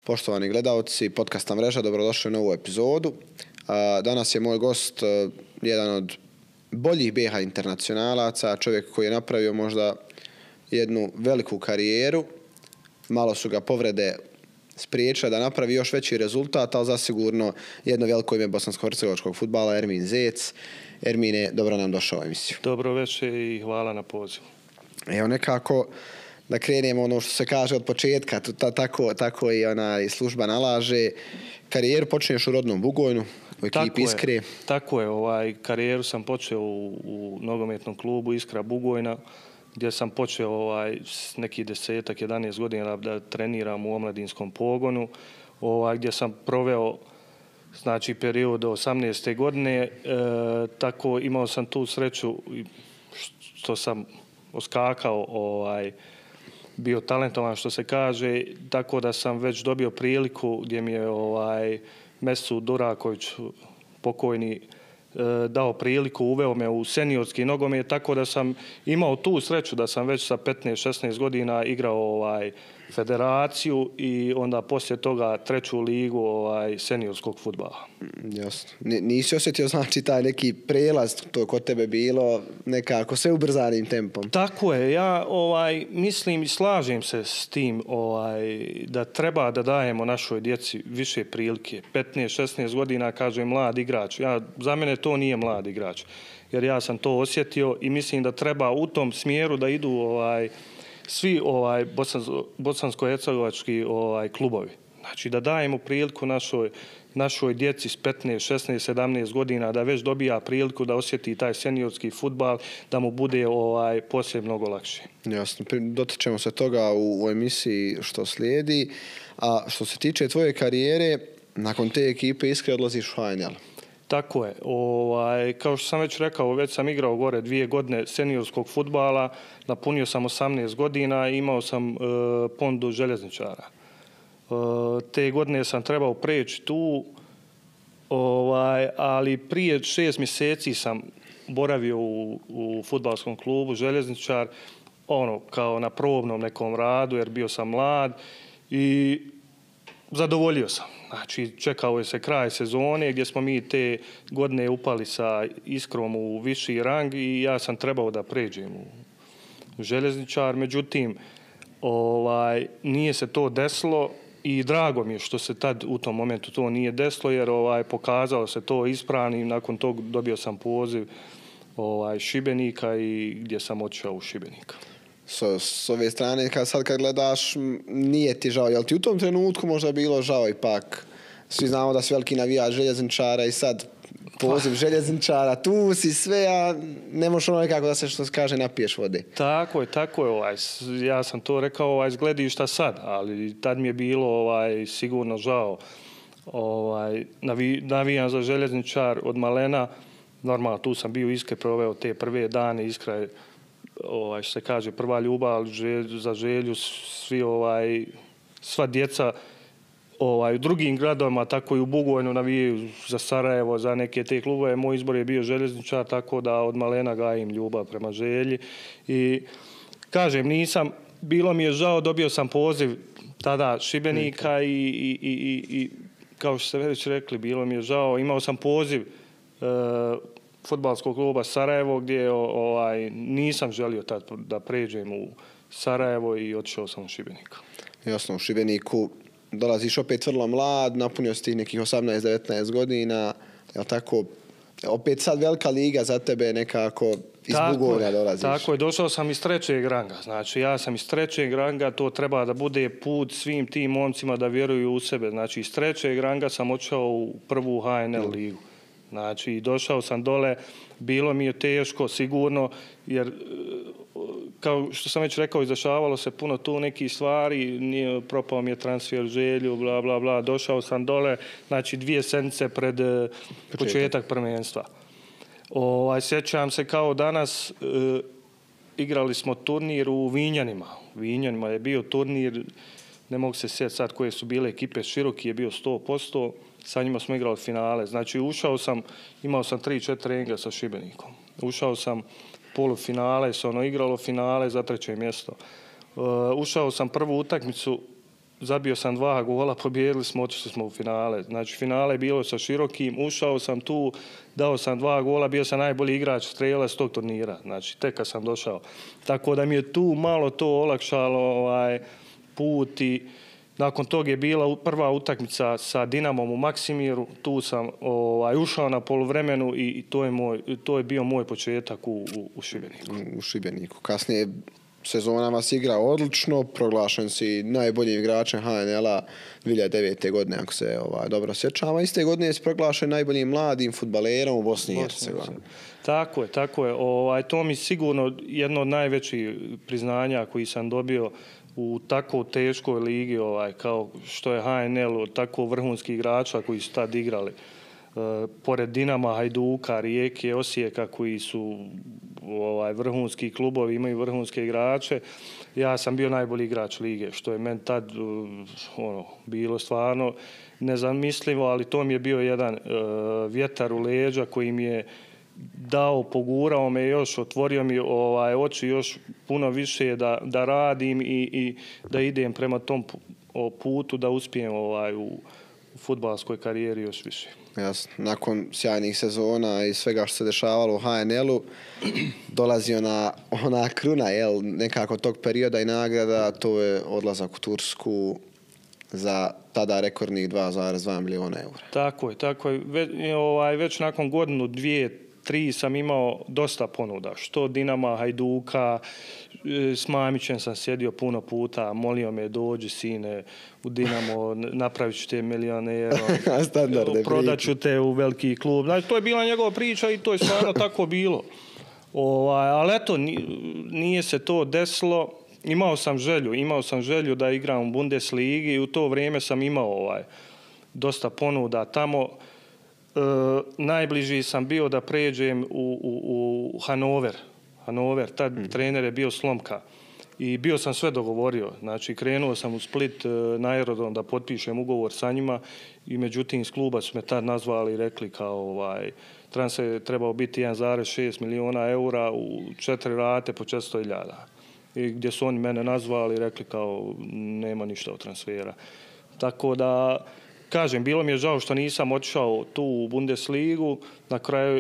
Poštovani gledalci podcasta Mreža, dobrodošli u novu epizodu. Danas je moj gost jedan od boljih BiH internacionalaca, čovjek koji je napravio možda jednu veliku karijeru. Malo su ga povrede spriječile da napravi još veći rezultat, ali zasigurno jedno veliko ime bosansko-hercegovačkog fudbala, Ermin Zec. Ermine, dobro nam došao u emisiju. Dobro večer i hvala na pozivu. Evo nekako da krenemo ono što se kaže od početka, tako i služba nalaže. Karijeru počneš u rodnom Bugojnu, u ekipi Iskre. Tako je, karijeru sam počeo u nogometnom klubu Iskra Bugojna, gdje sam počeo s nekih 10-11 godina da treniram u omladinskom pogonu, gdje sam proveo period do 18. godine. Tako imao sam tu sreću što sam oskakao, bio talentovan što se kaže, tako da sam već dobio priliku gdje mi je Mesut Duraković pokojni dao priliku, uveo me u seniorski nogomet, tako da sam imao tu sreću da sam već sa 15-16 godina igrao federaciju i onda poslije toga treću ligu seniorskog fudbala. Jasno. Nisi osjetio taj neki prelaz, to kod tebe bilo nekako sve ubrzanim tempom? Tako je, ja mislim i slažem se s tim da treba da dajemo našoj djeci više prilike. 15-16 godina, kažem, mlad igrač. Za mene to nije mlad igrač, jer ja sam to osjetio i mislim da treba u tom smjeru da idu svi bosansko-hercegovački klubovi. Znači da dajemo priliku našoj djeci s 15, 16, 17 godina da već dobija priliku da osjeti taj seniorski fudbal, da mu bude poslije mnogo lakše. Jasno, dotičemo se toga u emisiji što slijedi. A što se tiče tvoje karijere, nakon te ekipe Iskre odlaziš u HNL. Tako je. Kao što sam već rekao, već sam igrao gore 2 godine seniorskog fudbala, napunio sam 18 godina i imao sam ponudu željezničara. Te godine sam trebao preći tu, ali prije 6 mjeseci sam boravio u fudbalskom klubu željezničar, kao na probnom nekom radu, jer bio sam mlad i zadovoljio sam. Znači, čekao je se kraj sezone gdje smo mi te godine upali sa Iskrom u viši rang i ja sam trebao da pređem u željezničar. Međutim, nije se to desilo i drago mi je što se tad u tom momentu to nije desilo, jer pokazalo se to ispravnim. Nakon tog dobio sam poziv Šibenika i gdje sam otišao u Šibenika. S ove strane, kad gledaš, nije ti žao. Jel ti u tom trenutku možda bilo žao ipak? Svi znamo da si veliki navijač željezničara i sad poziv željezničara, tu si sve, a ne možeš nekako da se, što se kaže, napiješ vode. Tako je. Ja sam to rekao s gledišta sad, ali tad mi je bilo sigurno žao. Navijam za željezničar od malena. Normalno, tu sam bio Iskre, proveo te prve dane. Iskra je, što se kaže, prva ljubav, za želju svi, sva djeca u drugim gradovima, tako i u Bugojnu navijaju za Sarajevo, za neke te klubove. Moj izbor je bio željezničar, tako da od malena gajim ljubav prema želji. I kažem, bilo mi je žao, dobio sam poziv tada Šibenika i kao što ste već rekli, bilo mi je žao. Imao sam poziv fudbalskog kluba Sarajevo gdje nisam želio tad da pređem u Sarajevo i otišao sam u Šibenika. Jasno, u Šibeniku dolaziš opet vrlo mlad, napunio si nekih 18-19 godina, jel tako? Opet sad velika liga za tebe nekako iz Bugojna dolaziš. Tako je, došao sam iz trećeg ranga. Znači ja sam iz trećeg ranga, to treba da bude put svim tim momcima da vjeruju u sebe. Znači iz trećeg ranga sam otišao u prvu HNL ligu. Znači, došao sam dole, bilo mi je teško, sigurno, jer, kao što sam već rekao, izdešavalo se puno tu nekih stvari, propao mi je transfer želju, bla, bla, bla, došao sam dole, znači 2 sedmice pred početak prvenstva. Sjećam se kao danas, igrali smo turnir u Vinjanima. U Vinjanima je bio turnir, ne mogu se sjetiti sad koje su bile ekipe, Široki je bio 100%, sa njima smo igrali finale. Znači imao sam 3-4 treninga sa Šibenikom. Ušao sam polufinale, igralo finale za 3. mjesto. Ušao sam prvu utakmicu zabio sam 2 gola, pobijedili smo, otišli smo u finale. Znači, finale je bilo sa Širokim, ušao sam tu, dao sam 2 gola, bio sam najbolji igrač strelac tog turnira. Znači, tek kad sam došao. Tako da mi je tu malo to olakšalo put i nakon toga je bila prva utakmica sa Dinamom u Maksimiru. Tu sam ušao na poluvremenu i to je bio moj početak u Šibeniku. U Šibeniku. Kasnije sezona vas igra odlično, proglašen si najboljim igračem HNL-a 2009. godine, ako se dobro sjećam, a iste godine si proglašen najboljim mladim fudbalerom u Bosni i Hercegovini. Tako je. To mi sigurno jedno od najvećih priznanja koji sam dobio u tako teškoj ligi, kao što je HNL, od tako vrhunskih igrača koji su tad igrali. Pored Dinama, Hajduka, Rijeke, Osijeka koji su vrhunski klubovi, imaju vrhunske igrače. Ja sam bio najbolji igrač lige, što je meni tad bilo stvarno nezamislivo, ali to mi je bio jedan vjetar u leđa koji mi je dao, pogurao me još, otvorio mi oči još puno više da radim i da idem prema tom putu da uspijem u fudbalskoj karijeri još više. Jasno. Nakon sjajnih sezona i svega što se dešavalo u HNL-u, dolazi ona kruna, nekako tog perioda i nagrada, to je odlazak u Tursku za tada rekordnih 2,2 miliona eura. Tako je. Već nakon godinu, 2, 3 sam imao dosta ponuda. Što Dinama, Hajduka, s Mamićem sam sjedio puno puta, molio me dođi sine u Dinamo, napravit ću te milionera, prodat ću te u veliki klub. Znači, to je bila njegova priča i to je stvarno tako bilo. Ali eto, nije se to desilo. Imao sam želju da igram u Bundesligi i u to vrijeme sam imao dosta ponuda tamo. Najbliži sam bio da pređem u Hanover, tad trener je bio Slomka i bio sam sve dogovorio. Znači, krenuo sam u Split na aerodrom da potpišem ugovor sa njima i međutim iz kluba su me tad nazvali i rekli kao transfer je trebao biti 1,6 miliona eura u 4 rate po 400.000. I gdje su oni mene nazvali i rekli kao nema ništa od transfera. Tako da, kažem, bilo mi je žao što nisam otišao tu u Bundesligu.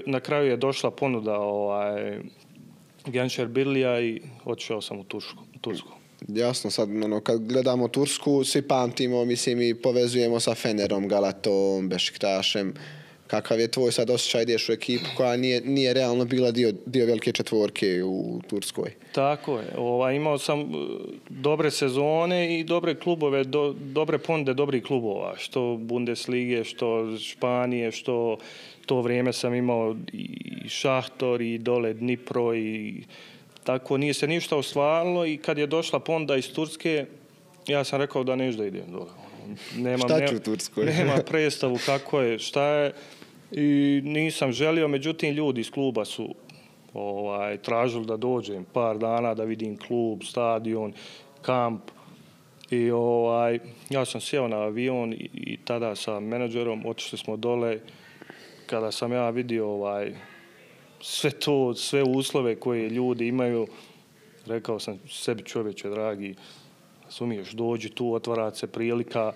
Na kraju je došla ponuda Genčer Birlija i otišao sam u Tursku. Jasno, sad kad gledamo Tursku, svi pamtimo, mislim i povezujemo sa Fenerom, Galatom, Bešiktašem. Kakav je tvoj sad osjećaj, ideš u ekipu koja nije realno bila dio velike četvorke u Turskoj? Tako je. Imao sam dobre sezone i dobre klubove, dobre ponude dobrih klubova. Što Bundeslige, što Španije, što to vrijeme sam imao i Šahtor i dole Dnipro i tako. Nije se ništa ostvarilo i kad je došla ponuda iz Turske, ja sam rekao da neću da idem dole. Šta ću u Turskoj? Nema predstavu kako je, šta je. I nisam želio, međutim ljudi iz kluba su tražili da dođem par dana da vidim klub, stadion, kamp. I ja sam sjeo na avion i tada sa menadžerom otišli smo dole. Kada sam ja vidio sve uslove koje ljudi imaju, rekao sam sebi čovječe dragi, razumiješ, dođi tu, otvara se prilika,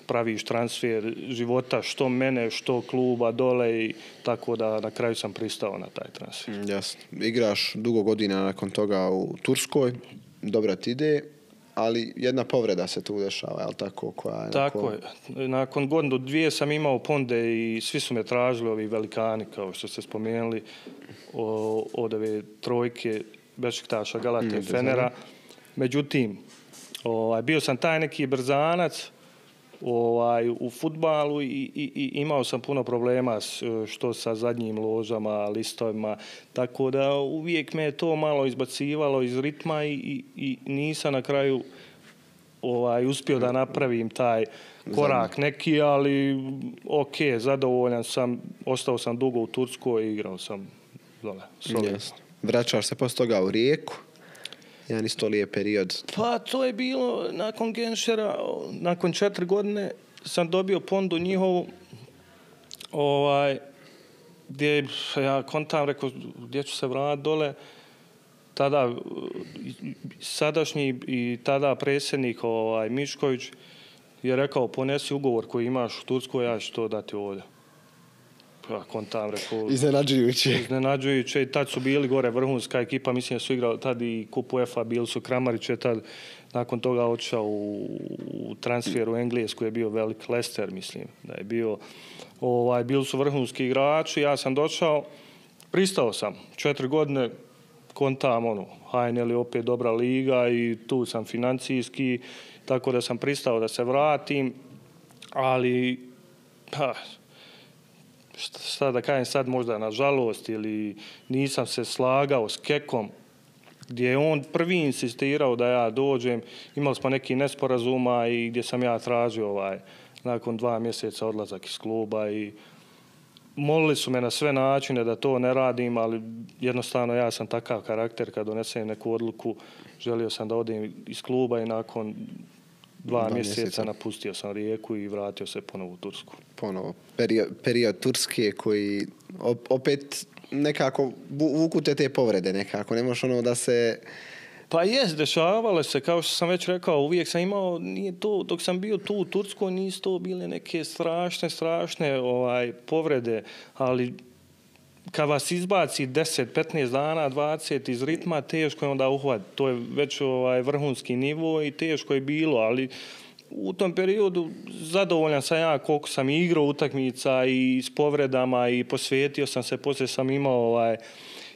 praviš transfer života, što mene, što kluba dole i tako da na kraju sam pristao na taj transfer. Jasno. Igraš dugo godina nakon toga u Turskoj, dobra ti ide, ali jedna povreda se tu dešava, je li tako? Tako je. Nakon godinu, 2 sam imao ponude i svi su me tražili, ovi velikani, kao što ste spomenuli, od ove trojke Bešiktaša, Galate, Fenera. Međutim, bio sam taj neki brzanac u fudbalu i imao sam puno problema što sa zadnjim ložama, listovima, tako da uvijek me je to malo izbacivalo iz ritma i nisam na kraju uspio da napravim taj korak neki, ali ok, zadovoljan sam, ostao sam dugo u Turskoj i igrao sam dole. Vraćaš se poslije toga u Rijeku? Jedan isto lijep period. Pa to je bilo nakon Genšera, nakon 4 godine sam dobio ponudu njihovu, gdje ja kontam, rekao, gdje ću se vratiti dole. Tada sadašnji i tada predsjednik Mišković je rekao ponesi ugovor koji imaš u Turskoj, ja ću to dati ovdje. Ja kontam, rekao... Iznenađujuće. I tad su bili gore vrhunska ekipa, mislim da su igrali tad i Kup UEFA, bili su Kramarić je tad nakon toga odšao u transferu u Englesku, je bio velik Leicester, mislim da je bio. Bili su vrhunski igrači, ja sam došao, pristao sam 4 godine, kontam HNL je opet dobra liga i tu sam financijski, tako da sam pristao da se vratim, ali šta da kažem sad, možda nažalost ili nisam se slagao s Kekom, gdje je on prvi insistirao da ja dođem, imali smo neki nesporazuma i gdje sam ja tražio nakon 2 mjeseca odlazak iz kluba i molili su me na sve načine da to ne radim, ali jednostavno ja sam takav karakter, kad donesem neku odluku, želio sam da odem iz kluba i nakon 2 mjeseca napustio sam Rijeku i vratio se ponovo u Tursku. Ponovo, period Turske koji opet nekako vuku te povrede nekako, ne možeš da se... Pa jest, dešavalo se, kao što sam već rekao, uvijek sam imao, nije to, dok sam bio tu u Turskoj, nisu to bile neke strašne povrede, ali kad vas izbaci 10, 15 dana, 20 iz ritma, teško je onda uhvatiti. To je već vrhunski nivo i teško je bilo, ali u tom periodu zadovoljan sam ja koliko sam igrao utakmica i s povredama i posvetio sam se, poslije sam imao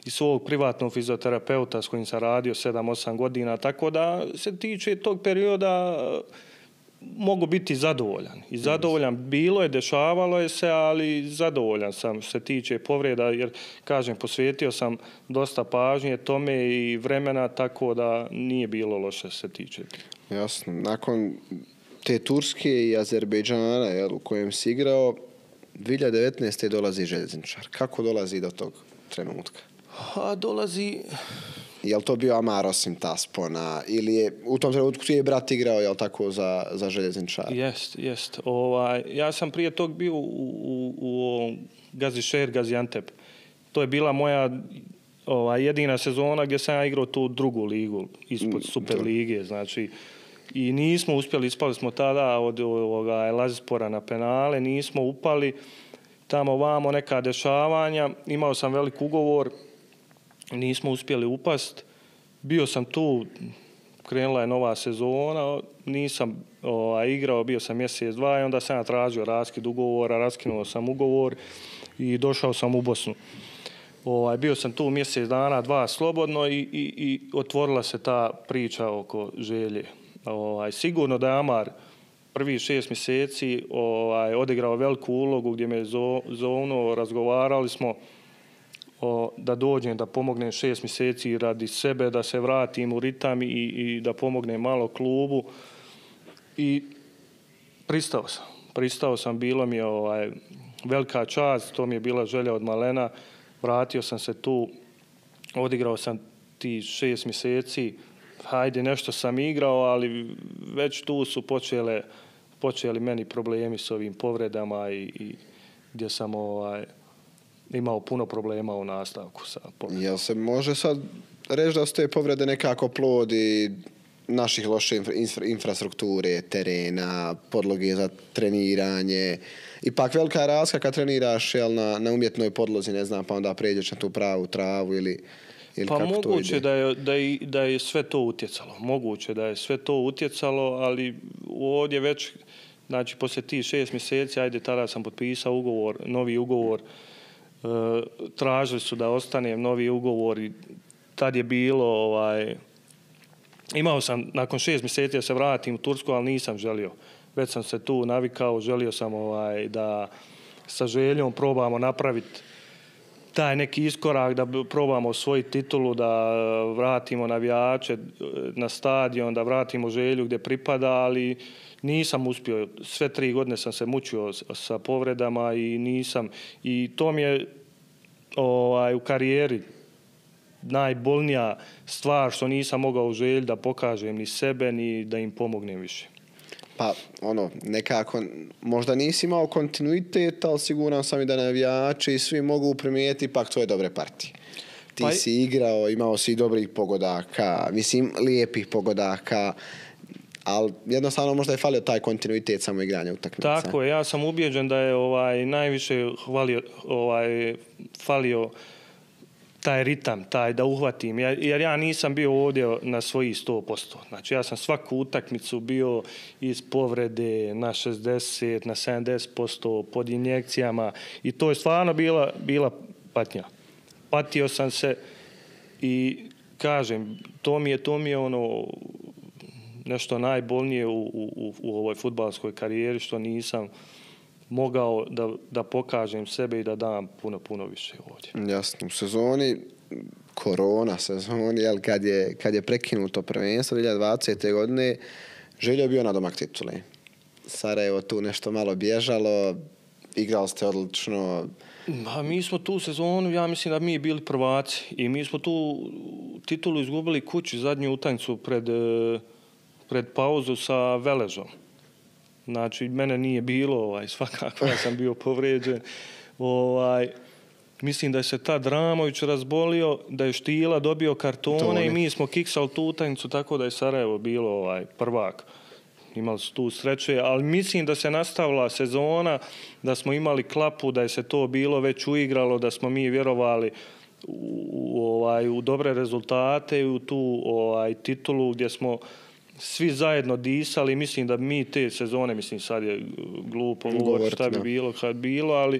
i svog privatnog fizioterapeuta s kojim sam radio 7-8 godina, tako da se tiče tog perioda mogu biti zadovoljan. I zadovoljan bilo je, dešavalo je se, ali zadovoljan sam se tiče povreda, jer, kažem, posvetio sam dosta pažnje tome i vremena, tako da nije bilo loše se tiče. Jasno. Nakon te Turske i Azerbejdžana, u kojem si igrao, 2019. dolazi Željezničar. Kako dolazi do tog trenutka? Dolazi... Je li to bio Amar osim Taspona ili je u tom trenutku je brat igrao, je li tako, za Željezničar? Jest. Ja sam prije tog bio u Gazišehir, Gaziantep. To je bila moja jedina sezona gdje sam ja igrao tu drugu ligu ispod Super lige, znači i nismo uspjeli, ispali smo tada od Lazispora na penale, nismo upali tamo vamo neka dešavanja, imao sam velik ugovor, nismo uspjeli upast, bio sam tu, krenula je nova sezona, nisam igrao, bio sam mjesec, 2 i onda sam ja tražio raskid ugovora, raskinuo sam ugovor i došao sam u Bosnu. Bio sam tu mjesec dana, 2 slobodno i otvorila se ta priča oko Želje. Sigurno da je Amar prvi 6 mjeseci odigrao veliku ulogu gdje me zovnuo, razgovarali smo da dođem, da pomognem 6 mjeseci radi sebe, da se vratim u ritam i da pomognem malo klubu. I pristao sam, bilo mi je velika čast, to mi je bila želja od malena. Vratio sam se tu, odigrao sam ti 6 mjeseci, hajde nešto sam igrao, ali već tu su počeli meni problemi s ovim povredama i gdje sam imao puno problema u nastavku sa povredama. Jel se može sad reći da su te povrede nekako plod i naših loše infrastrukture, terena, podloge za treniranje? Ipak velika razlika kad treniraš na umjetnoj podlozi, ne znam, pa onda pređeš na tu pravu travu ili pa moguće da je sve to utjecalo. Moguće da je sve to utjecalo, ali ovdje već, znači poslije tih 6 mjeseci, ajde, tada sam potpisao novi ugovor, tražili su da ostanem novi ugovor i tad je bilo, imao sam nakon 6 mjeseci da se vratim u Tursku, ali nisam želio. Već sam se tu navikao, želio sam da sa Željom probamo napraviti taj neki iskorak, da probamo osvojiti titulu, da vratimo navijače na stadion, da vratimo Želju gdje pripada, ali nisam uspio. Sve 3 godine sam se mučio sa povredama i nisam. I to mi je u karijeri najbolnija stvar što nisam mogao u Želji da pokažem ni sebe, ni da im pomognem više. Pa, nekako, možda nisi imao kontinuitet, ali siguran sam i da navijači i svi mogu primijetiti ipak tvoje dobre partije. Ti si igrao, imao si dobrih pogodaka, mislim, lijepih pogodaka, ali jednostavno možda je falio taj kontinuitet samo igranja utakmica. Tako je, ja sam ubijeđen da je najviše falio taj ritam, taj da uhvatim, jer ja nisam bio ovdje na svojih 100%. Znači ja sam svaku utakmicu bio iz povrede na 60, na 70% pod injekcijama i to je stvarno bila patnja. Patio sam se i kažem, to mi je ono nešto najbolnije u ovoj fudbalskoj karijeri što nisam mogao da pokažem sebe i da dam puno više ovdje. Jasno, u sezoni, korona sezoni, jel, kad je prekinuto prvenstvo 2020. godine, Željo bio nadomak titule. Sarajevo tu nešto malo bježalo, igrali ste odlično. Mi smo tu sezonu, ja mislim da mi bili prvaci i mi smo tu titulu izgubili kući, zadnju utakmicu pred pauzu sa Veležom. Znači, mene nije bilo, svakako ja sam bio povrijeđen. Mislim da je se tad Ramović razbolio, da je Štila dobio kartone i mi smo kiksali tu utakmicu, tako da je Sarajevo bilo prvak. Imali su tu sreće, ali mislim da se nastavila sezona, da smo imali klapu, da je se to bilo već uigralo, da smo mi vjerovali u dobre rezultate i u tu titulu gdje smo svi zajedno disali. Mislim da mi te sezone, mislim sad je glupo govoriti šta bi bilo kad bilo, ali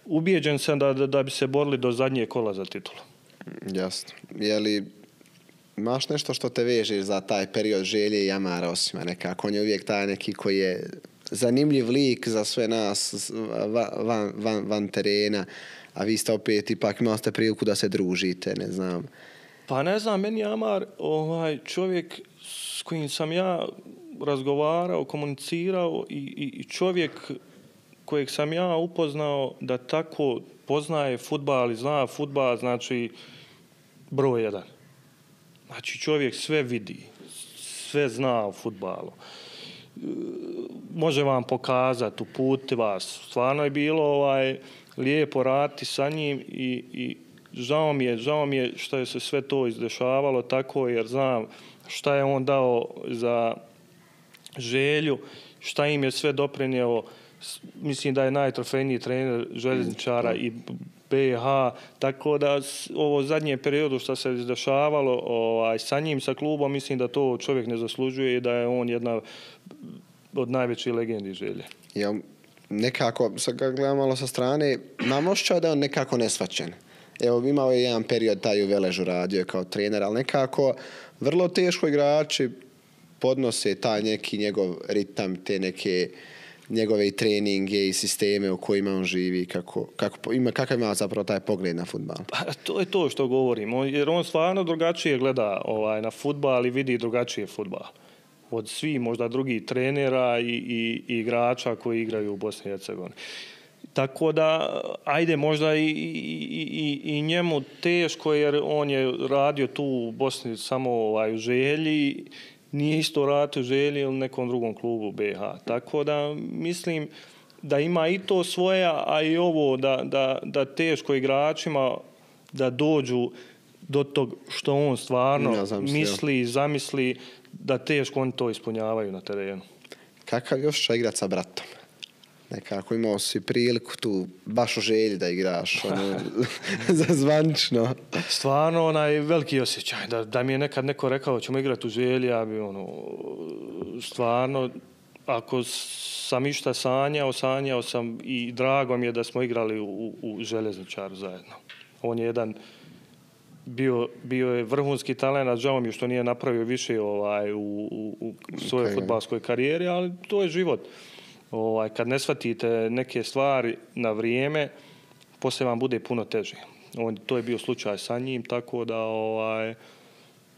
ubijeđen sam da bi se borili do zadnje kola za titulu. Jasno. Je li imaš nešto što te veže za taj period Želje i Amara Osima nekako? On je uvijek taj neki koji je zanimljiv lik za sve nas van terena, a vi ste opet ipak imali ste priliku da se družite, ne znam. Pa ne znam, meni je Amar čovjek s kojim sam ja razgovarao, komunicirao i čovjek kojeg sam ja upoznao da tako poznaje fudbal i zna fudbal, znači broj 1. Znači čovjek sve vidi, sve zna o fudbalu. Može vam pokazati, uputi vas. Stvarno je bilo lijepo raditi sa njim i žao mi je što je se sve to izdešavalo tako, jer znam šta je on dao za Želju, šta im je sve doprinjeo. Mislim da je najtrofejniji trener željezničara i BiH, tako da ovo zadnje periodu što se izdešavalo sa njim, sa klubom, mislim da to čovjek ne zaslužuje i da je on jedna od najvećih legendi Želje. Ja, nekako, sad ga gledam malo sa strane, mam osjećao da je on nekako nesvaćen. Evo, imao je jedan period taj u Veležu radio kao trener, ali nekako vrlo teško igrači podnose taj neki njegov ritam, te neke njegove i treninge i sisteme u kojima on živi, kakav ima zapravo taj pogled na fudbal. Pa, to je to što govorim, jer on stvarno drugačije gleda na fudbal i vidi drugačije fudbal od svih možda drugih trenera i igrača koji igraju u Bosni i Hercegovini. Tako da, ajde, možda i njemu teško, jer on je radio tu u Bosni samo u Želji, nije isto radio u Želji ili nekom drugom klubu BiH. Tako da mislim da ima i to svoje, a i ovo da teško igračima da dođu do tog što on stvarno misli i zamisli, da teško oni to ispunjavaju na terenu. Kakav je osjećaj igrati sa bratom? Nekako imao si priliku tu baš u Želji da igraš, zvanično. Stvarno veliki osjećaj. Da mi je nekad neko rekao ćemo igrati u Želji, ja bi stvarno, ako sam išta sanjao sam i drago mi je da smo igrali u Željezničaru zajedno. On je jedan bio je vrhunski talent, žao mi je što nije napravio više u svojoj fudbalskoj karijeri, ali to je život. Kad ne shvatite neke stvari na vrijeme, poslije vam bude puno teže. To je bio slučaj sa njim, tako da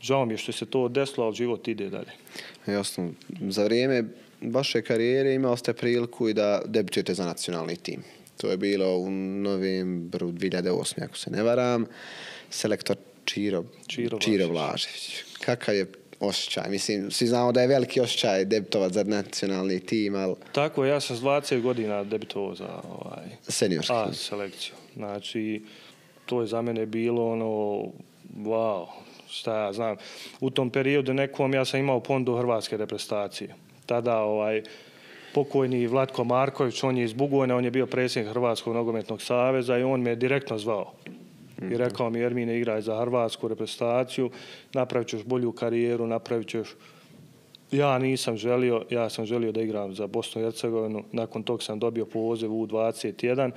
žao mi je što se to desilo, ali život ide dalje. Jasno. Za vrijeme vaše karijere imali ste priliku i da debitujete za nacionalni tim. To je bilo u novembru 2008. ako se ne varam. Selektor Čiro Blažević. Kakav je osjećaj? Mislim, svi znamo da je veliki osjećaj debitovati za nacionalni tim, ali... Tako, ja sam s 20 godina debitovao za seniorski selekciju. Znači, to je za mene bilo wow, šta ja znam. U tom periodu nekom ja sam imao pondu hrvatske reprezentacije. Tada pokojni Vlatko Marković, on je iz Bugojna, on je bio predsjednik Hrvatskog nogometnog saveza i on me direktno zvao. I rekao mi, Ermine, igraj za hrvatsku reprezentaciju, napravit ćeš bolju karijeru, napravit ćeš... Ja nisam želio, ja sam želio da igram za Bosnu i Hercegovinu. Nakon tog sam dobio poziv u 21,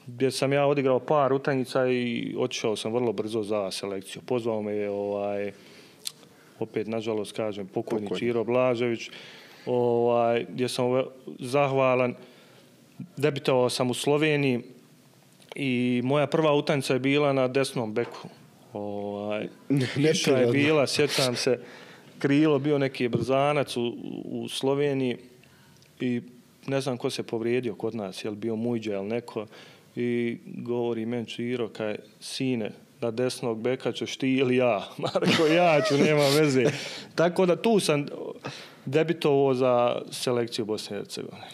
gdje sam ja odigrao par utakmica i otišao sam vrlo brzo za selekciju. Pozvao me je, opet, nažalost, kažem, pokojni Čiro Blažević, gdje sam zahvalan. Debitovao sam u Sloveniji i moja prva utakmica je bila na desnom beku. Iša je bila, sjećam se, krilo, bio neki brzanac u Sloveniji i ne znam ko se povrijedio kod nas, je li bio Mujđa ili neko, i govori meni Čiro, kaj, sine, na desnog beka ćeš ti ili ja. Marko, ja ću, nema veze. Tako da tu sam debitovao za selekciju Bosne i Hercegovine.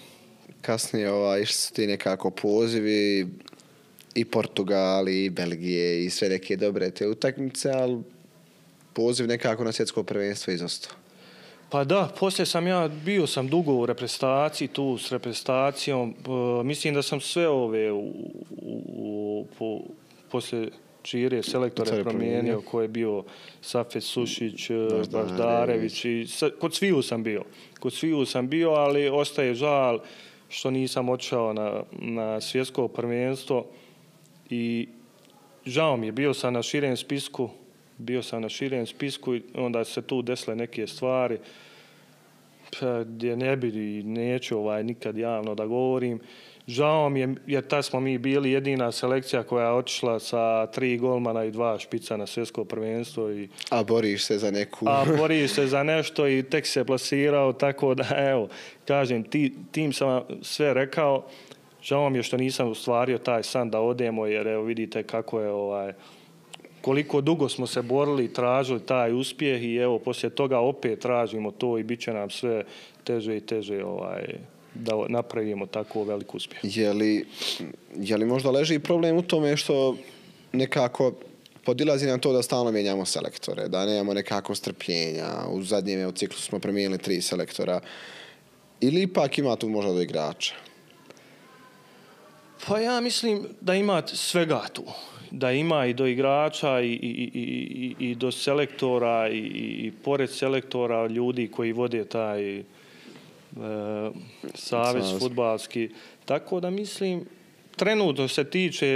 Kasnije išli su ti nekako pozivi i Portugali, i Belgije, i sve neke dobre te utakmice, ali poziv nekako na svjetsko prvenstvo izostao. Pa da, poslije bio sam dugo u reprezentaciji, tu s reprezentacijom. Mislim da sam sve ove poslije Čire selektore promijenio, ko je bio Safet Sušić, Baždarević. Kod sviju sam bio, ali ostaje žal što nisam odšao na svjetsko prvenstvo. I žao mi je, bio sam na širem spisku i onda se tu desile neke stvari gdje ne bi i neću nikad javno da govorim. Žao mi je jer tad smo mi bili jedina selekcija koja je otišla sa 3 golmana i 2 špica na svjetsko prvenstvo. A boriš se za neku... boriš se za nešto i tek se plasirao, tako da evo, kažem, tim sam vam sve rekao. Žao mi je što nisam ostvario taj san da odemo, jer evo vidite kako je koliko dugo smo se borili i tražili taj uspjeh i evo poslije toga opet tražimo to i bit će nam sve teže i teže da napravimo tako velik uspjeh. Je li možda leži problem u tome što nekako podilazi nam to da stalno mijenjamo selektore, da nemamo nekako strpljenja, u zadnjem ciklusu smo promijenili 3 selektora, ili ipak ima tu možda do igrača? Pa ja mislim da ima svega tu. Da ima i do igrača i do selektora i pored selektora ljudi koji vode taj savez fudbalski. Tako da mislim, trenutno se tiče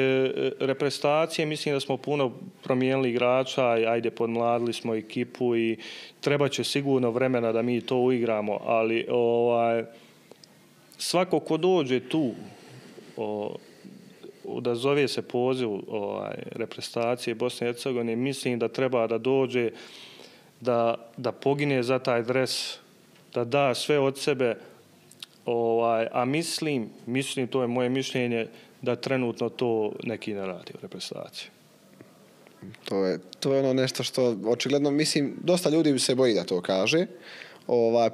reprezentacije, mislim da smo puno promijenili igrača, ajde podmladili smo ekipu i treba će sigurno vremena da mi to uigramo, ali svako ko dođe tu da zove se poziv reprezentacije Bosne i Hercegovine, mislim da treba da dođe, da pogine za taj dres, da da sve od sebe, a mislim, to je moje mišljenje, da trenutno to neki ne radi u reprezentaciji. To je ono nešto što očigledno, mislim, dosta ljudi se boji da to kaže,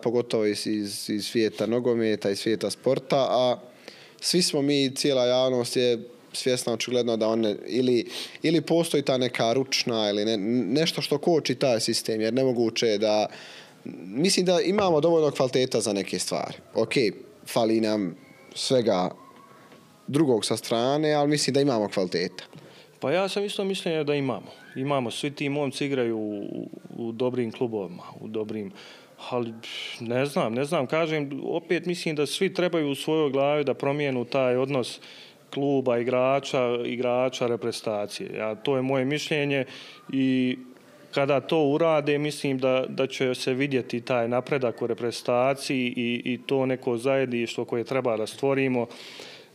pogotovo iz svijeta nogometa i svijeta sporta, a svi smo mi, cijela javnost je svjesna očigledno da one ili postoji ta neka ručna ili nešto što koči taj sistem, jer nemoguće je da... Mislim da imamo dovoljno kvaliteta za neke stvari. Ok, fali nam svega drugog sa strane, ali mislim da imamo kvaliteta. Pa ja sam isto mišljenja da imamo. Imamo, svi ti momci igraju u dobrim klubovima, ali ne znam, kažem, opet mislim da svi trebaju u svojoj glavi da promijenu taj odnos kluba, igrača, reprezentacije. To je moje mišljenje i kada to urade, mislim da će se vidjeti taj napredak u reprezentaciji i to neko zajedništvo koje treba da stvorimo,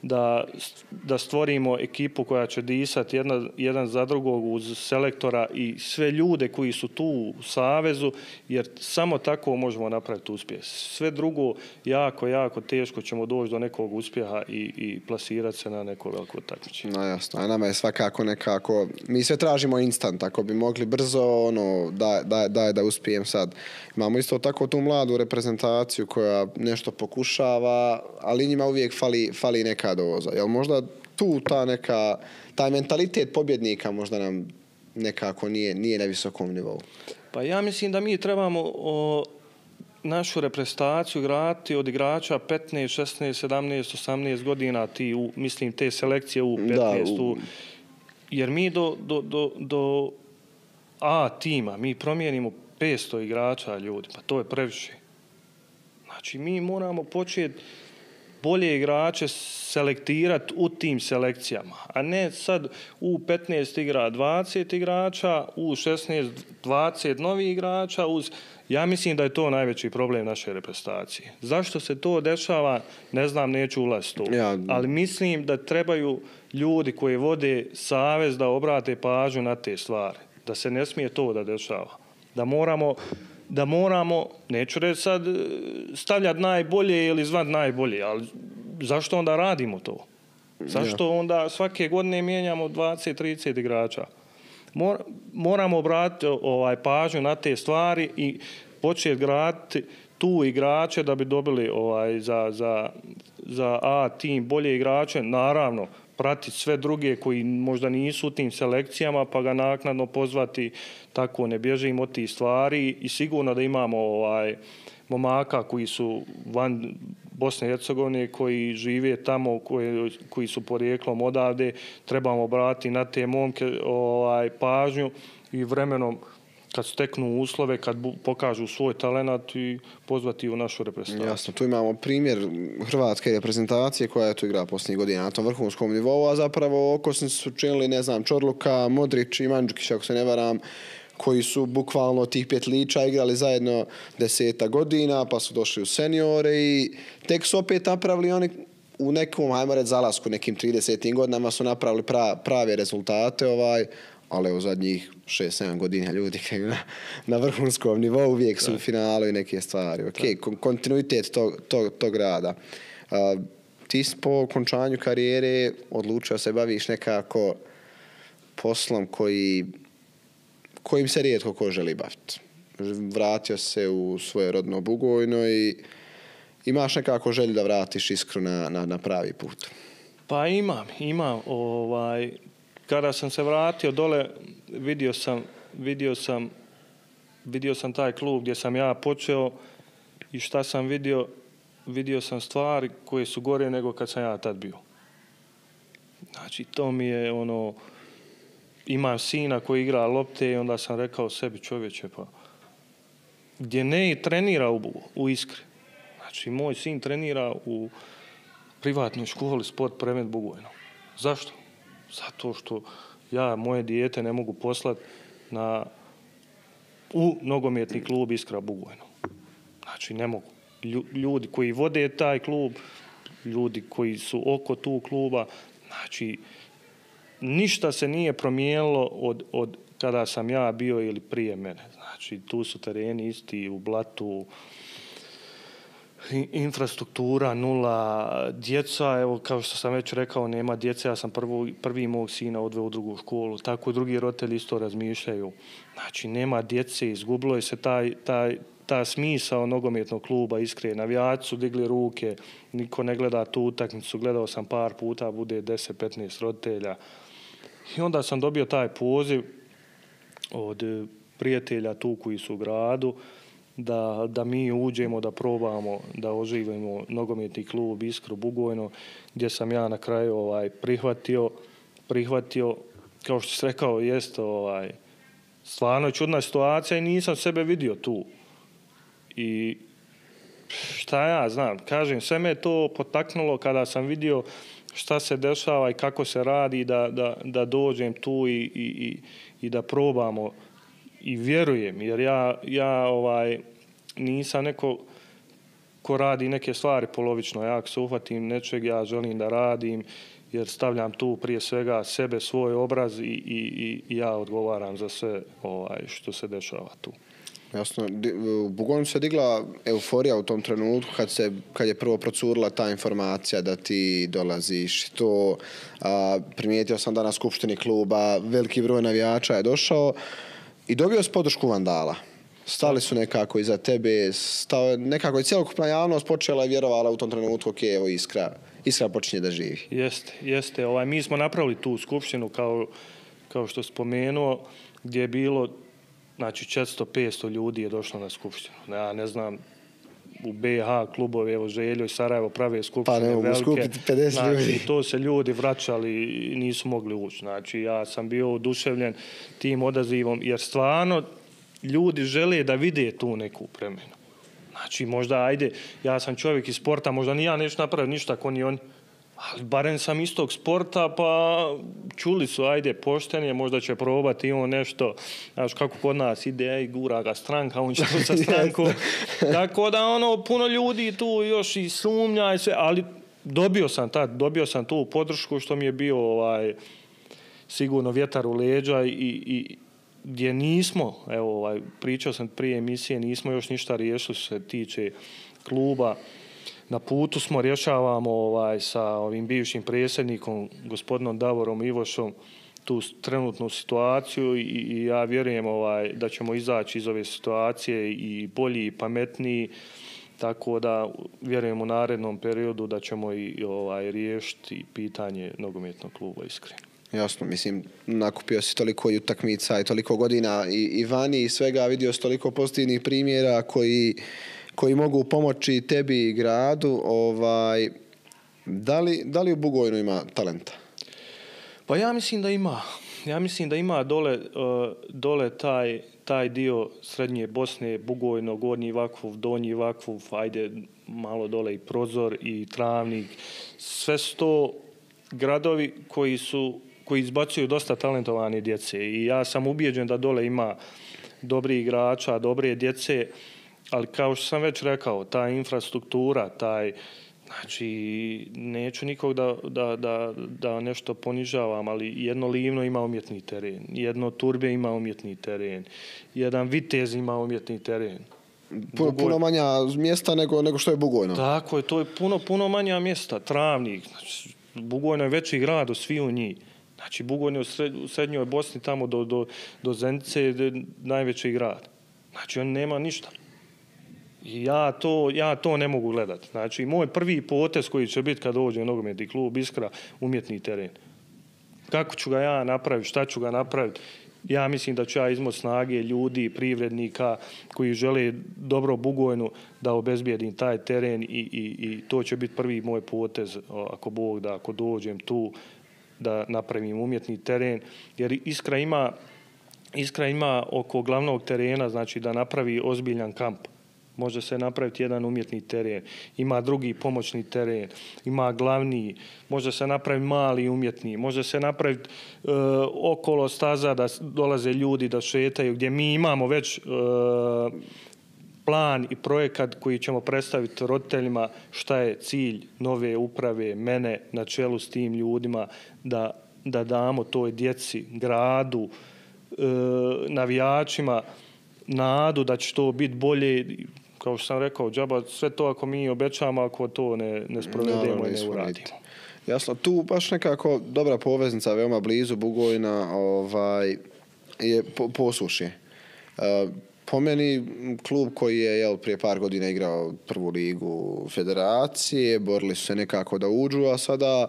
da stvorimo ekipu koja će disati jedan za drugog uz selektora i sve ljude koji su tu u savezu, jer samo tako možemo napraviti uspjeh. Sve drugo jako teško ćemo doći do nekog uspjeha i plasirati se na neko veliko takmičenje. No jasno, a nama je svakako nekako, mi sve tražimo instant, ako bi mogli brzo, da uspijem sad. Imamo isto tako tu mladu reprezentaciju koja nešto pokušava, ali njima uvijek fali neka doza. Jel možda tu taj mentalitet pobjednika možda nam nekako nije na visokom nivou? Pa ja mislim da mi trebamo našu reprezentaciju graditi od igrača 15, 16, 17, 18 godina, mislim te selekcije u 15. Jer mi do A tima mi promijenimo 500 igrača ljudi, pa to je previše. Znači mi moramo početi bolje igrače selektirati u tim selekcijama, a ne sad u 15 igra 20 igrača, u 16 20 novih igrača. Ja mislim da je to najveći problem naše reprezentacije. Zašto se to dešava, ne znam, neću ulaziti u to. Ali mislim da trebaju ljudi koji vode savez da obrate pažnju na te stvari. Da se ne smije to da dešava. Da moramo, neću reći sad stavljati najbolje ili zvati najbolje, ali zašto onda radimo to? Zašto onda svake godine mijenjamo 20-30 igrača? Moramo obratiti pažnju na te stvari i početi graditi tu igrače da bi dobili za A tim bolje igrače. Naravno, pratiti sve druge koji možda nisu u tim selekcijama, pa ga naknadno pozvati, tako ne bježimo od tih stvari i sigurno da imamo momaka koji su van Bosne i Hercegovine, koji žive tamo, koji su porijeklom odavde, trebamo obratiti na te momke pažnju i vremenom kad steknu uslove, kad pokažu svoj talenat i pozvati u našu reprezentaciju. Jasno, tu imamo primjer hrvatske reprezentacije koja je tu igra posljednjih godina na tom vrhunskom nivou, a zapravo okosnici su činili, ne znam, Čorluka, Modrić i Mandžukić, ako se ne varam, koji su bukvalno tih petliča igrali zajedno 10 godina, pa su došli u seniore i tek su opet napravili oni u nekom, hajmo reći, zalasku, nekim 30. godinama su napravili prave rezultate, ali u zadnjih 6-7 godina ljudi na vrhunskom nivou uvijek su u finalu i neke stvari. Kontinuitet tog rada. Ti po okončanju karijere odlučio se baviš nekako poslom kojim se rijetko ko želi baviti. Vratio se u svoje rodno Bugojno i imaš nekako želju da vratiš Iskru na pravi put. Pa imam. Kada sam se vratio dole, vidio sam taj klub gdje sam ja počeo i šta sam vidio. Vidio sam stvari koje su gore nego kad sam ja tad bio. Znači, to mi je imam sina koji igra lopte i onda sam rekao sebi, čovječe, pa gdje ne trenira u Iskri. Znači, moj sin trenira u privatnoj školi Sport Premet Bugojno. Zašto? Zato što ja moje dijete ne mogu poslati u nogometni klub Iskra Bugojno. Znači, ne mogu. Ljudi koji vode taj klub, ljudi koji su oko tu kluba, znači, ništa se nije promijenilo od kada sam ja bio ili prije mene. Znači, tu su tereni isti u blatu, infrastruktura nula, djeca, evo kao što sam već rekao, nema djece, ja sam prvi mog sina odveo u drugu školu, tako drugi roditelji isto razmišljaju. Znači, nema djece, izgubilo je se ta smisao nogometnog kluba Iskre. Navijači su digli ruke, niko ne gleda tu utakmicu, gledao sam par puta, bude 10-15 roditelja. I onda sam dobio taj poziv od prijatelja tu koji su u gradu, da mi uđemo, da probamo, da oživimo nogometni klub Iskru Bugojno, gdje sam ja na kraju prihvatio, kao što si rekao, jest stvarno čudna situacija i nisam sebe vidio tu. I šta ja znam, kažem, sve me to potaknulo kada sam vidio šta se dešava i kako se radi, da dođem tu i da probamo. I vjerujem, jer ja nisam neko ko radi neke stvari polovično. Ja ako se uhvatim nečeg, ja želim da radim, jer stavljam tu prije svega sebe, svoj obraz i ja odgovaram za sve što se dešava tu. Jasno, u Bugojnu se digla euforija u tom trenutku kad je prvo procurila ta informacija da ti dolaziš. To primijetio sam da na skupštini kluba veliki broj navijača je došao i dobio si podršku Vandala. Stali su nekako iza tebe, nekako je cjelokupna javnost počela i vjerovala u tom trenutku, evo Iskra počinje da živi. Jeste. Mi smo napravili tu skupštinu kao što spomenuo, gdje je bilo, znači 400-500 ljudi je došlo na skupštinu. Ja ne znam, u BiH klubove, evo Željo i Sarajevo prave skupštine velike. Pa ne mogu skupiti 50 znači, ljudi. To se ljudi vraćali i nisu mogli ući. Znači, ja sam bio oduševljen tim odazivom, jer stvarno ljudi žele da vide tu neku promjenu. Znači, možda, ajde, ja sam čovjek iz sporta, možda ni ja neću napraviti ništa ako ni on, ali barem sam iz tog sporta, pa čuli su, ajde, poštenje, možda će probati on nešto, znaš kako kod nas ide, gura ga stranka, on će to sa strankom. Tako da, puno ljudi tu još i sumnja i sve, ali dobio sam tu podršku što mi je bio sigurno vjetar u leđa i gdje nismo, evo, pričao sam prije emisije, nismo još ništa riješili što se tiče kluba. Na putu smo, rješavamo sa ovim bivšim predsjednikom, gospodinom Davorom Ivošom, tu trenutnu situaciju i ja vjerujem da ćemo izaći iz ove situacije i bolji i pametniji, tako da vjerujem u narednom periodu da ćemo i riješiti pitanje nogometnog kluba Iskreno. Jasno, mislim, nakupio si toliko i utakmica i toliko godina i vani i svega, vidio si toliko pozitivnih primjera koji mogu pomoći tebi i gradu. Da li u Bugojnu ima talenta? Pa ja mislim da ima. Ja mislim da ima dole taj dio srednje Bosne, Bugojno, Gornji Vakuf, Donji Vakuf, ajde malo dole i Prozor i Travnik. Sve su to gradovi koji izbacuju dosta talentovane djece i ja sam ubijeđen da dole ima dobrih igrača, dobre djece, ali kao što sam već rekao, ta infrastruktura, znači neću nikog da nešto ponižavam, ali jedno Livno ima umjetni teren, jedno Turbe ima umjetni teren, jedan Vitez ima umjetni teren. Puno manja mjesta nego što je Bugojno. Tako je, to je puno manja mjesta. Travnik, znači, Bugojno je veći grad od svih u njih. Znači, Bugojno je u srednjoj Bosni tamo do Zenice je najveći grad. Znači, on nema ništa. I ja to ne mogu gledati. Znači, moj prvi potez koji će biti kad dođe nogometni klub Iskra, umjetni teren. Kako ću ga ja napraviti, šta ću ga napraviti? Ja mislim da ću ja izmoći snage ljudi, privrednika koji žele dobro Bugojnu da obezbijedim taj teren i to će biti prvi moj potez, ako Bog da, ako dođem tu, da napravim umjetni teren. Jer Iskra ima oko glavnog terena, znači da napravi ozbiljan kamp. Može se napraviti jedan umjetni teren, ima drugi pomoćni teren, ima glavni, može se napraviti mali umjetni, može se napraviti okolo staza da dolaze ljudi da šetaju, gdje mi imamo već plan i projekat koji ćemo predstaviti roditeljima šta je cilj nove uprave, mene na čelu s tim ljudima, da damo toj djeci, gradu, navijačima nadu da će to biti bolje. Kao što sam rekao, džaba, sve to ako mi obećamo, ako to ne sprovedemo i ne uradimo. Jasno, tu baš nekako dobra poveznica, veoma blizu Bugojna, je Posušje. Po meni, klub koji je prije par godina igrao prvu ligu federacije, borili su se nekako da uđu, a sada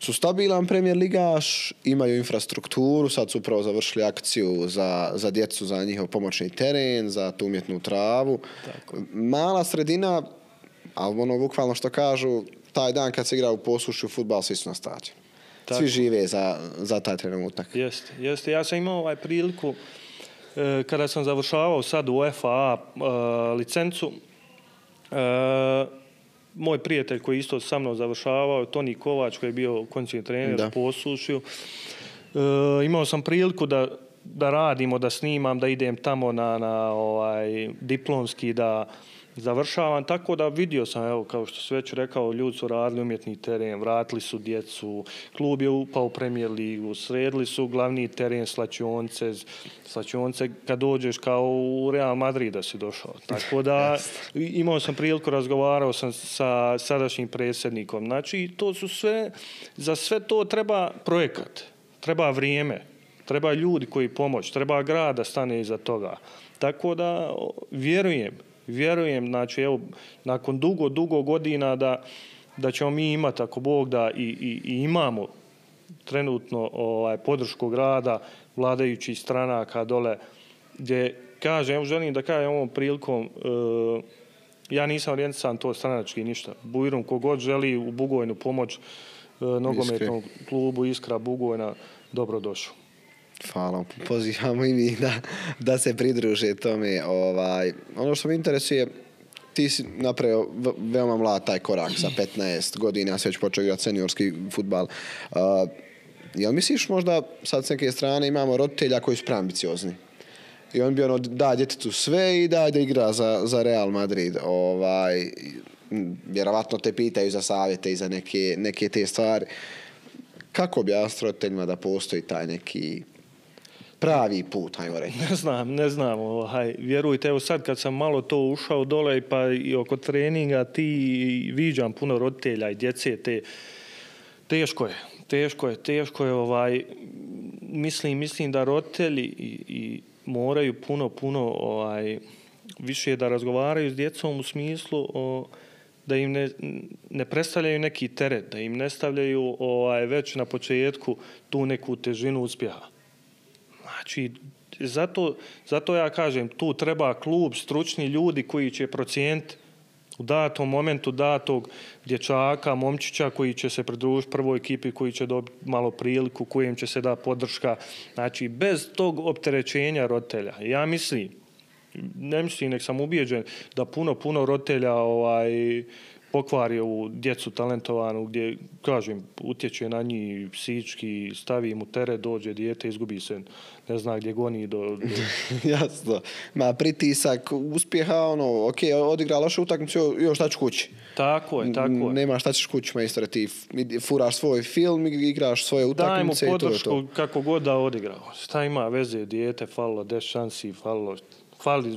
su stabilan premijer ligaš, imaju infrastrukturu, sad su upravo završili akciju za djecu, za njihov pomoćni teren, za tu umjetnu travu. Tako. Mala sredina, ali bukvalno što kažu, taj dan kad se igra u Posušju fudbal, svi su na stadionu. Svi žive za taj trenutak. Jeste. Ja sam imao priliku kada sam završavao sad u FA licencu, moj prijatelj koji isto sa mnom završavao, Toni Kovač koji je bio kondicijni trener u Posušju, imao sam priliku da radimo, da snimam, da idem tamo na diplomski, da završavam, tako da vidio sam, evo, kao što sam već rekao, ljudi su radili umjetni teren, vratili su djecu, klub je upao u Premier ligu, sredili su glavni teren slačionice kad dođeš kao u Real Madrid da si došao. Tako da imao sam priliku, razgovarao sam sa sadašnjim predsjednikom. Znači, to su za sve to treba projekat, treba vrijeme, treba ljudi koji pomoć, treba grad da stane iza toga. Tako da vjerujem, znači, evo, nakon dugo godina da ćemo mi imati, ako Bog da, i imamo trenutno podršku grada, vladajućih stranaka dole, gdje kažem, želim da kažem ovom prilikom, ja nisam orijentisan to stranački ništa. Bujrum kogod želi u Bugojnu pomoć nogometnom klubu Iskra Bugojna, dobrodošao. Hvala, pozivamo i mi da se pridruže tome. Ono što me interesuje, ti si napravio veoma mlad taj korak sa 15 godina, se već počeo igrati seniorski fudbal. Jel misliš možda sad s neke strane imamo roditelja koji su preambiciozni? I on bi da djetetu sve i da igra za Real Madrid. Vjerovatno te pitaju za savjete i za neke te stvari. Kako objasniti roditeljima da postoji taj neki pravi put, hajmo reći? Ne znam. Vjerujte, evo sad kad sam malo to ušao dole pa i oko treninga, ti viđam puno roditelja i djece, teško je. Mislim da roditelji i moraju puno više da razgovaraju s djecom u smislu da im ne predstavljaju neki teret, da im ne stavljaju već na početku tu neku težinu uspjeha. Znači, zato ja kažem, tu treba klub, stručni ljudi koji će procijeniti u datom momentu datog dječaka, momčića koji će se pridružiti prvoj ekipi, koji će dobiti malo priliku, kojem će se da podrška. Znači, bez tog opterećenja roditelja. Ja ne mislim, nek sam ubijeđen da puno roditelja pokvari ovu djecu talentovanu gdje, kažem, utječe na njih psihički, stavi mu teret, dođe dijete, izgubi se, ne zna gdje goni do... Jasno. Pritisak uspjeha, odigra lošu utakmicu, još šta ću kući. Tako je. Nema šta ćeš kući, majstore, ti furaš svoj film, igraš svoje utakmice. Dajmo podršku kako god da odigrao. Šta ima veze, dijete falilo, 10 šansi falilo,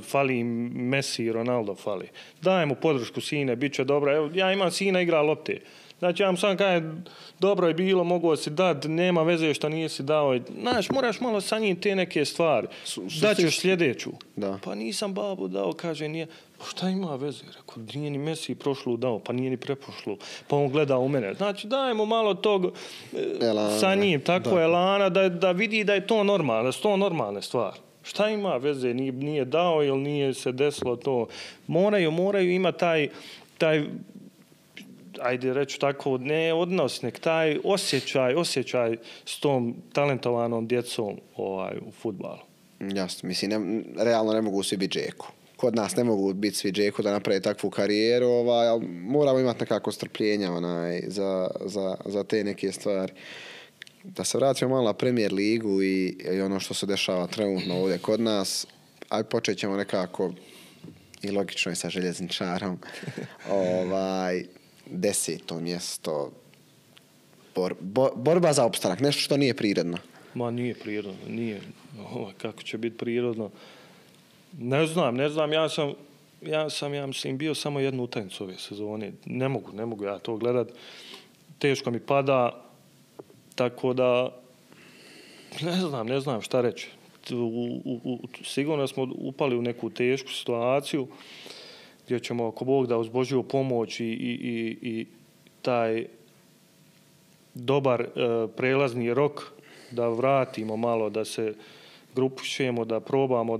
fali Messi i Ronaldo fali. Dajemo podršku sine, bit će dobro. Evo, ja imam sina, igra lopte. Znači, ja vam sam kažem, dobro je bilo, mogu si dati, nema veze što nisi dao. Znaš, moraš malo sa njim te neke stvari. Daćeš sljedeću. Da. Pa nisam babu dao, kaže, nije. Pa šta ima veze? Rekao, nije ni Messi prošlu dao, pa nije ni preprošlu. Pa on gleda u mene. Znači, dajemo malo tog sa njim, tako elana, da vidi da je to normalno, da su to normalne stvari. Šta ima veze? Nije dao ili nije se desilo to? Moraju imati taj ajde reći tako, ne odnos, nek taj osjećaj s tom talentovanom djecom u fudbalu. Jasno, mislim, realno ne mogu svi biti Džeko. Kod nas ne mogu biti svi Džeko da naprave takvu karijeru, ali moramo imati nekako strpljenja za te neke stvari. Da se vratimo malo na Premier ligu i ono što se dešava trenutno ovdje kod nas, aj počet ćemo nekako i logično je sa Željezničarom. 10. mjesto. Borba za opstanak, nešto što nije prirodno. Ma nije prirodno, nije. Kako će biti prirodno? Ne znam, ja mislim bio samo jednu utakmicu ove sezone. Ne mogu ja to gledat. Teško mi pada. Tako da, ne znam šta reći. Sigurno smo upali u neku tešku situaciju gdje ćemo, ako Bog da, uz Božju pomoć i taj dobar prelazni rok da vratimo malo, da se grupišemo, da probamo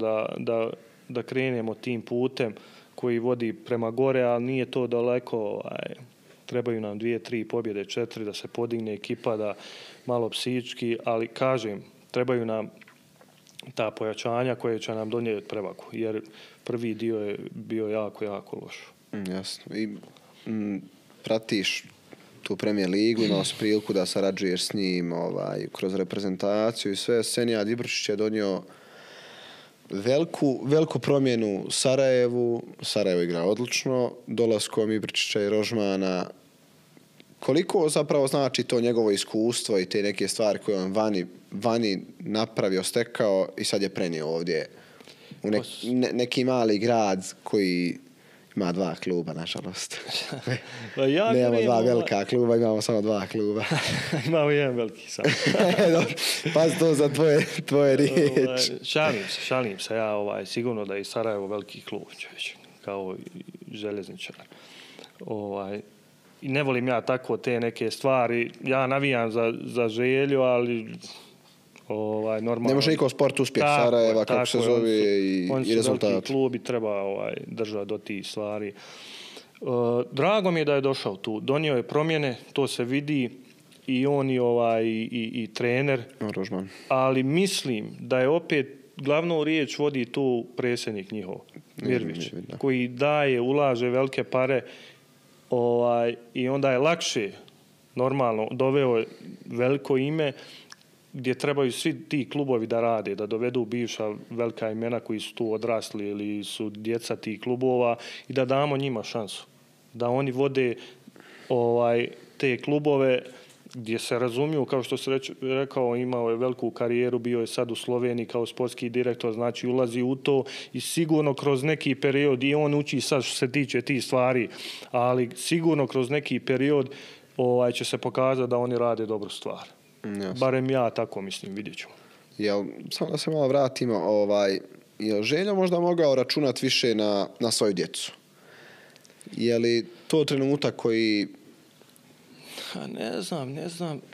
da krenemo tim putem koji vodi prema gore, ali nije to daleko. Trebaju nam 2-3 pobjede, 4 da se podigne ekipa, da malo psihički, ali kažem, trebaju nam ta pojačanja koje će nam donijeti prevagu, jer prvi dio je bio jako loš. Jasno. I pratiš tu Premier ligu, imao si priliku da sarađuješ s njim kroz reprezentaciju i sve. Senijad Ibrčić je donio veliku promjenu Sarajevu. Sarajevo igra odlično. Dolaskom Ibrčića i Rožmana. Koliko zapravo znači to njegovo iskustvo i te neke stvari koje on vani napravio, stekao i sad je prenio ovdje u neki mali grad koji ima 2 kluba, nažalost. Nemamo 2 velika kluba, imamo samo 2 kluba. Imamo jedan veliki samo. Pazi to za tvoje riječi. Šalim se. Ja sigurno da je Sarajevo veliki klub, kao Željezničar. i ne volim ja tako te neke stvari. Ja navijam za Želju, ali normalno. Ne može niko sport uspjeh Sarajeva, kako se zove, i rezultat. Oni su veliki klub i treba držati do tih stvari. Drago mi je da je došao tu. Donio je promjene, to se vidi, i on i trener. Rožman. Ali mislim da je opet glavnu riječ vodi tu predsjednik njihov, Mirvić, koji daje, ulaže velike pare, i onda je lakše, normalno, doveo je veliko ime gdje trebaju svi ti klubovi da rade, da dovedu bivša velika imena koji su tu odrasli ili su djeca tih klubova i da damo njima šansu. Da oni vode te klubove gdje se razumiju, kao što se rekao, imao je veliku karijeru, bio je sad u Sloveniji kao sportski direktor, znači ulazi u to i sigurno kroz neki period, i on uči sad što se tiče tih stvari, ali sigurno kroz neki period će se pokazati da oni rade dobru stvar. Jasno. Barem ja tako mislim, vidjet ćemo. Samo da se malo vratimo, je Željo možda mogao računati više na svoju djecu? Je li to trenutak koji...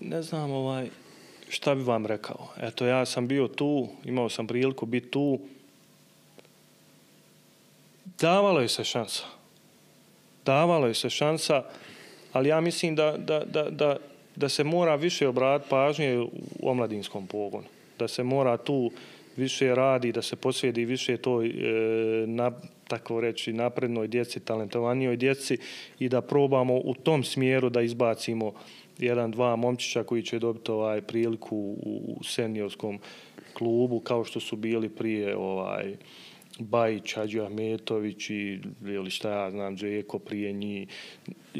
Ne znam šta bi vam rekao. Eto, ja sam bio tu, imao sam priliku biti tu. Davalo je se šansa, ali ja mislim da se mora više obratiti pažnje u omladinskom pogonu. Da se mora tu više radi, da se posvijedi više toj, tako reći, naprednoj djeci, talentovanijoj djeci i da probamo u tom smjeru da izbacimo 1-2 momčića koji će dobiti priliku u seniorskom klubu, kao što su bili prije Bajić, Hadži Ahmetović ili šta ja znam, Džeko prije njih,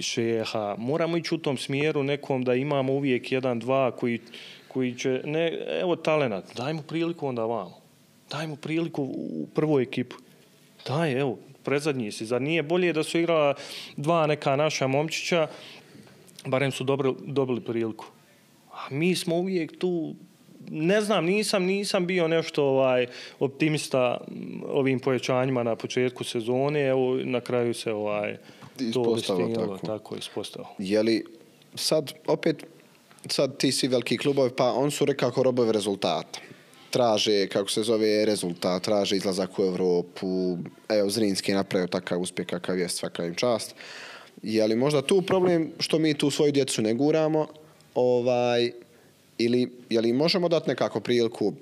Šeha. Moramo ići u tom smjeru nekom da imamo uvijek 1-2 koji će, evo talenat, daj mu priliku onda vamo. Daj mu priliku u prvoj ekipu. Daj, evo, predzadnji si. Zar nije bolje da su igrala 2 neka naša momčića, barem su dobili priliku. A mi smo uvijek tu, ne znam, nisam bio nešto optimista ovim pojačanjima na početku sezone, evo na kraju se to tako ispostavilo. Je li sad ti svi veliki klubovi, pa on su rekako robovi rezultata. Traže, kako se zove, rezultat, traže izlazak u Europu. Evo, Zrinski je napravio takav uspjeh kakav je, svaka im čast. Je li možda tu problem što mi tu svoju djecu ne guramo? Ili je li možemo dati nekako priliku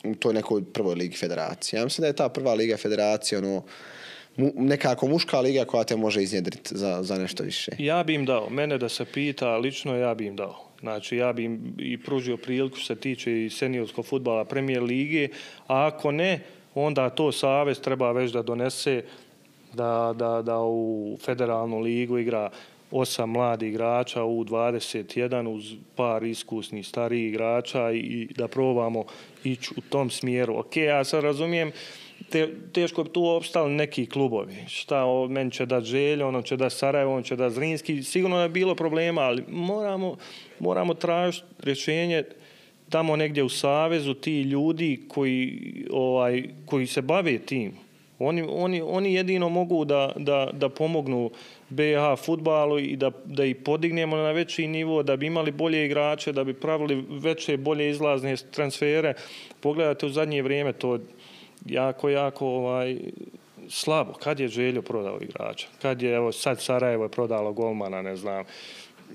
u toj nekoj prvoj ligi federacije? Ja mislim da je ta prva liga federacije nekako muška liga koja te može iznjedriti za nešto više. Ja bi im dao. Mene da se pita, lično ja bi im dao. Znači, ja bi im i pružio priliku što se tiče i seniorskog fudbala Premier lige, a ako ne, onda to savez treba već da donese da u federalnu ligu igra 8 mladih igrača u 21 uz par iskusnih starijih igrača i da probamo ići u tom smjeru. Ok, ja sad razumijem, teško bi tu opstali neki klubovi. Šta, meni će dati Željo, ono će dati Sarajevo, on će dati Zrinski. Sigurno je bilo problema, ali moramo tražiti rješenje tamo negdje u savezu, ti ljudi koji se bave tim. Oni jedino mogu da pomognu BiH fudbalu i da ih podignemo na veći nivo, da bi imali bolje igrače, da bi pravili veće, bolje izlazne transfere. Pogledajte u zadnje vrijeme, to jako slabo. Kad je Željo prodao igrača? Kad je, evo sad Sarajevo je prodalo golmana, ne znam.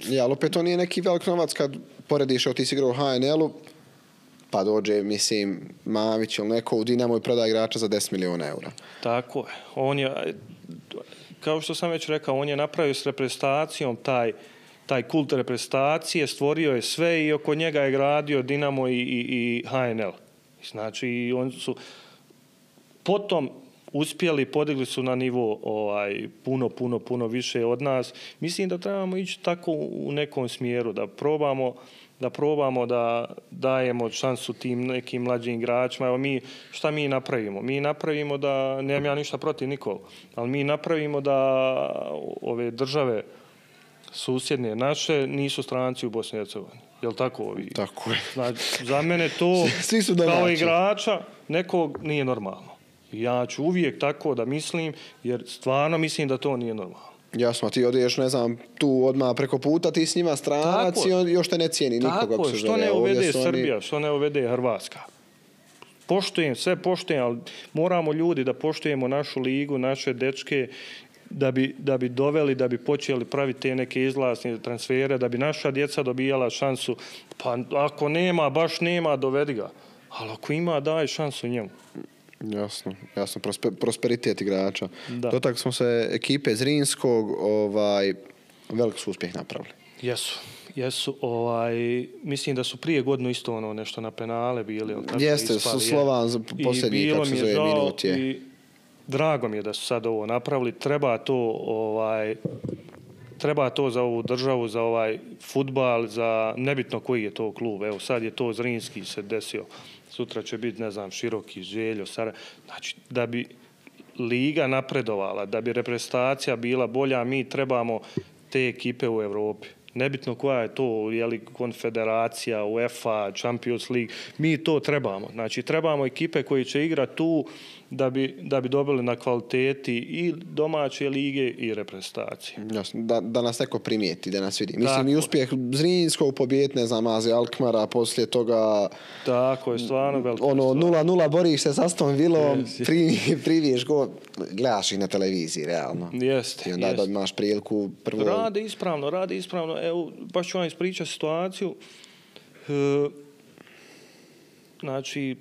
Ja, ali opet to nije neki velik novac kad porediš, ti si igrao u HNL-u, pa dođe, mislim, Mamić ili neko u Dinamo i prodaje igrača za 10 milijuna eura. Tako je. On je, kao što sam već rekao, on je napravio s reprezentacijom taj kult reprezentacije, stvorio je sve i oko njega je gradio Dinamo i HNL. Znači, oni su potom uspjeli, podigli su na nivo puno više od nas. Mislim da trebamo ići tako u nekom smjeru, da probamo da dajemo šansu tim nekim mlađim igračima. Evo šta mi napravimo? Mi napravimo da, nemam ja ništa protiv nikog, ali mi napravimo da ove države susjedne naše nisu stranci u Bosni i Hercegovini. Jel tako ovi? Tako je. Znači, za mene to svi su kao igrača nekog nije normalno. Ja ću uvijek tako da mislim, jer stvarno mislim da to nije normalno. Jasno, ti odeš, ne znam, tu odmah preko puta, ti s njima stranac i on još te ne cijeni nikoga. Tako je, što ne uvede Srbija, što ne uvede Hrvatska. Poštujem, sve poštujem, ali moramo ljudi da poštujemo našu ligu, naše dečke, da bi doveli, da bi počeli praviti te neke izlasne transfere, da bi naša djeca dobijala šansu. Pa ako nema, baš nema, dovedi ga. Ali ako ima, daj šansu njemu. Jasno. Prosperitet igrača. Da. Dotak smo se ekipe Zrinskog, velik su uspjeh napravili. Jesu, mislim da su prije godinu isto nešto na penale bili. Jeste, Slovan za posljednji, kako se zove, minut je. I drago mi je da su sad ovo napravili. Treba to za ovu državu, za ovaj fudbal, za nebitno koji je to klub. Evo sad je to Zrinski se desio. Sutra će biti, ne znam, Široki, Željo, Sarajevo. Znači, da bi liga napredovala, da bi reprezentacija bila bolja, mi trebamo te ekipe u Europi. Nebitno koja je to, je li konfederacija, UEFA, Champions League, mi to trebamo. Znači, trebamo ekipe koji će igrati tu da bi dobili na kvaliteti i domaće lige i reprezentacije. Jasno, da nas neko primijeti, da nas vidi. Mislim, i uspjeh Zrinskog pobijeti, ne znam, Azi Alkmara, poslije toga... Tako je, stvarno veliko. 0-0 boriš se s Aston Villom, priviješ go, gledaš ih na televiziji, realno. Jeste. I onda imaš priliku prvo... Rade ispravno. Evo, baš ću vam ispričati situaciju. Znači,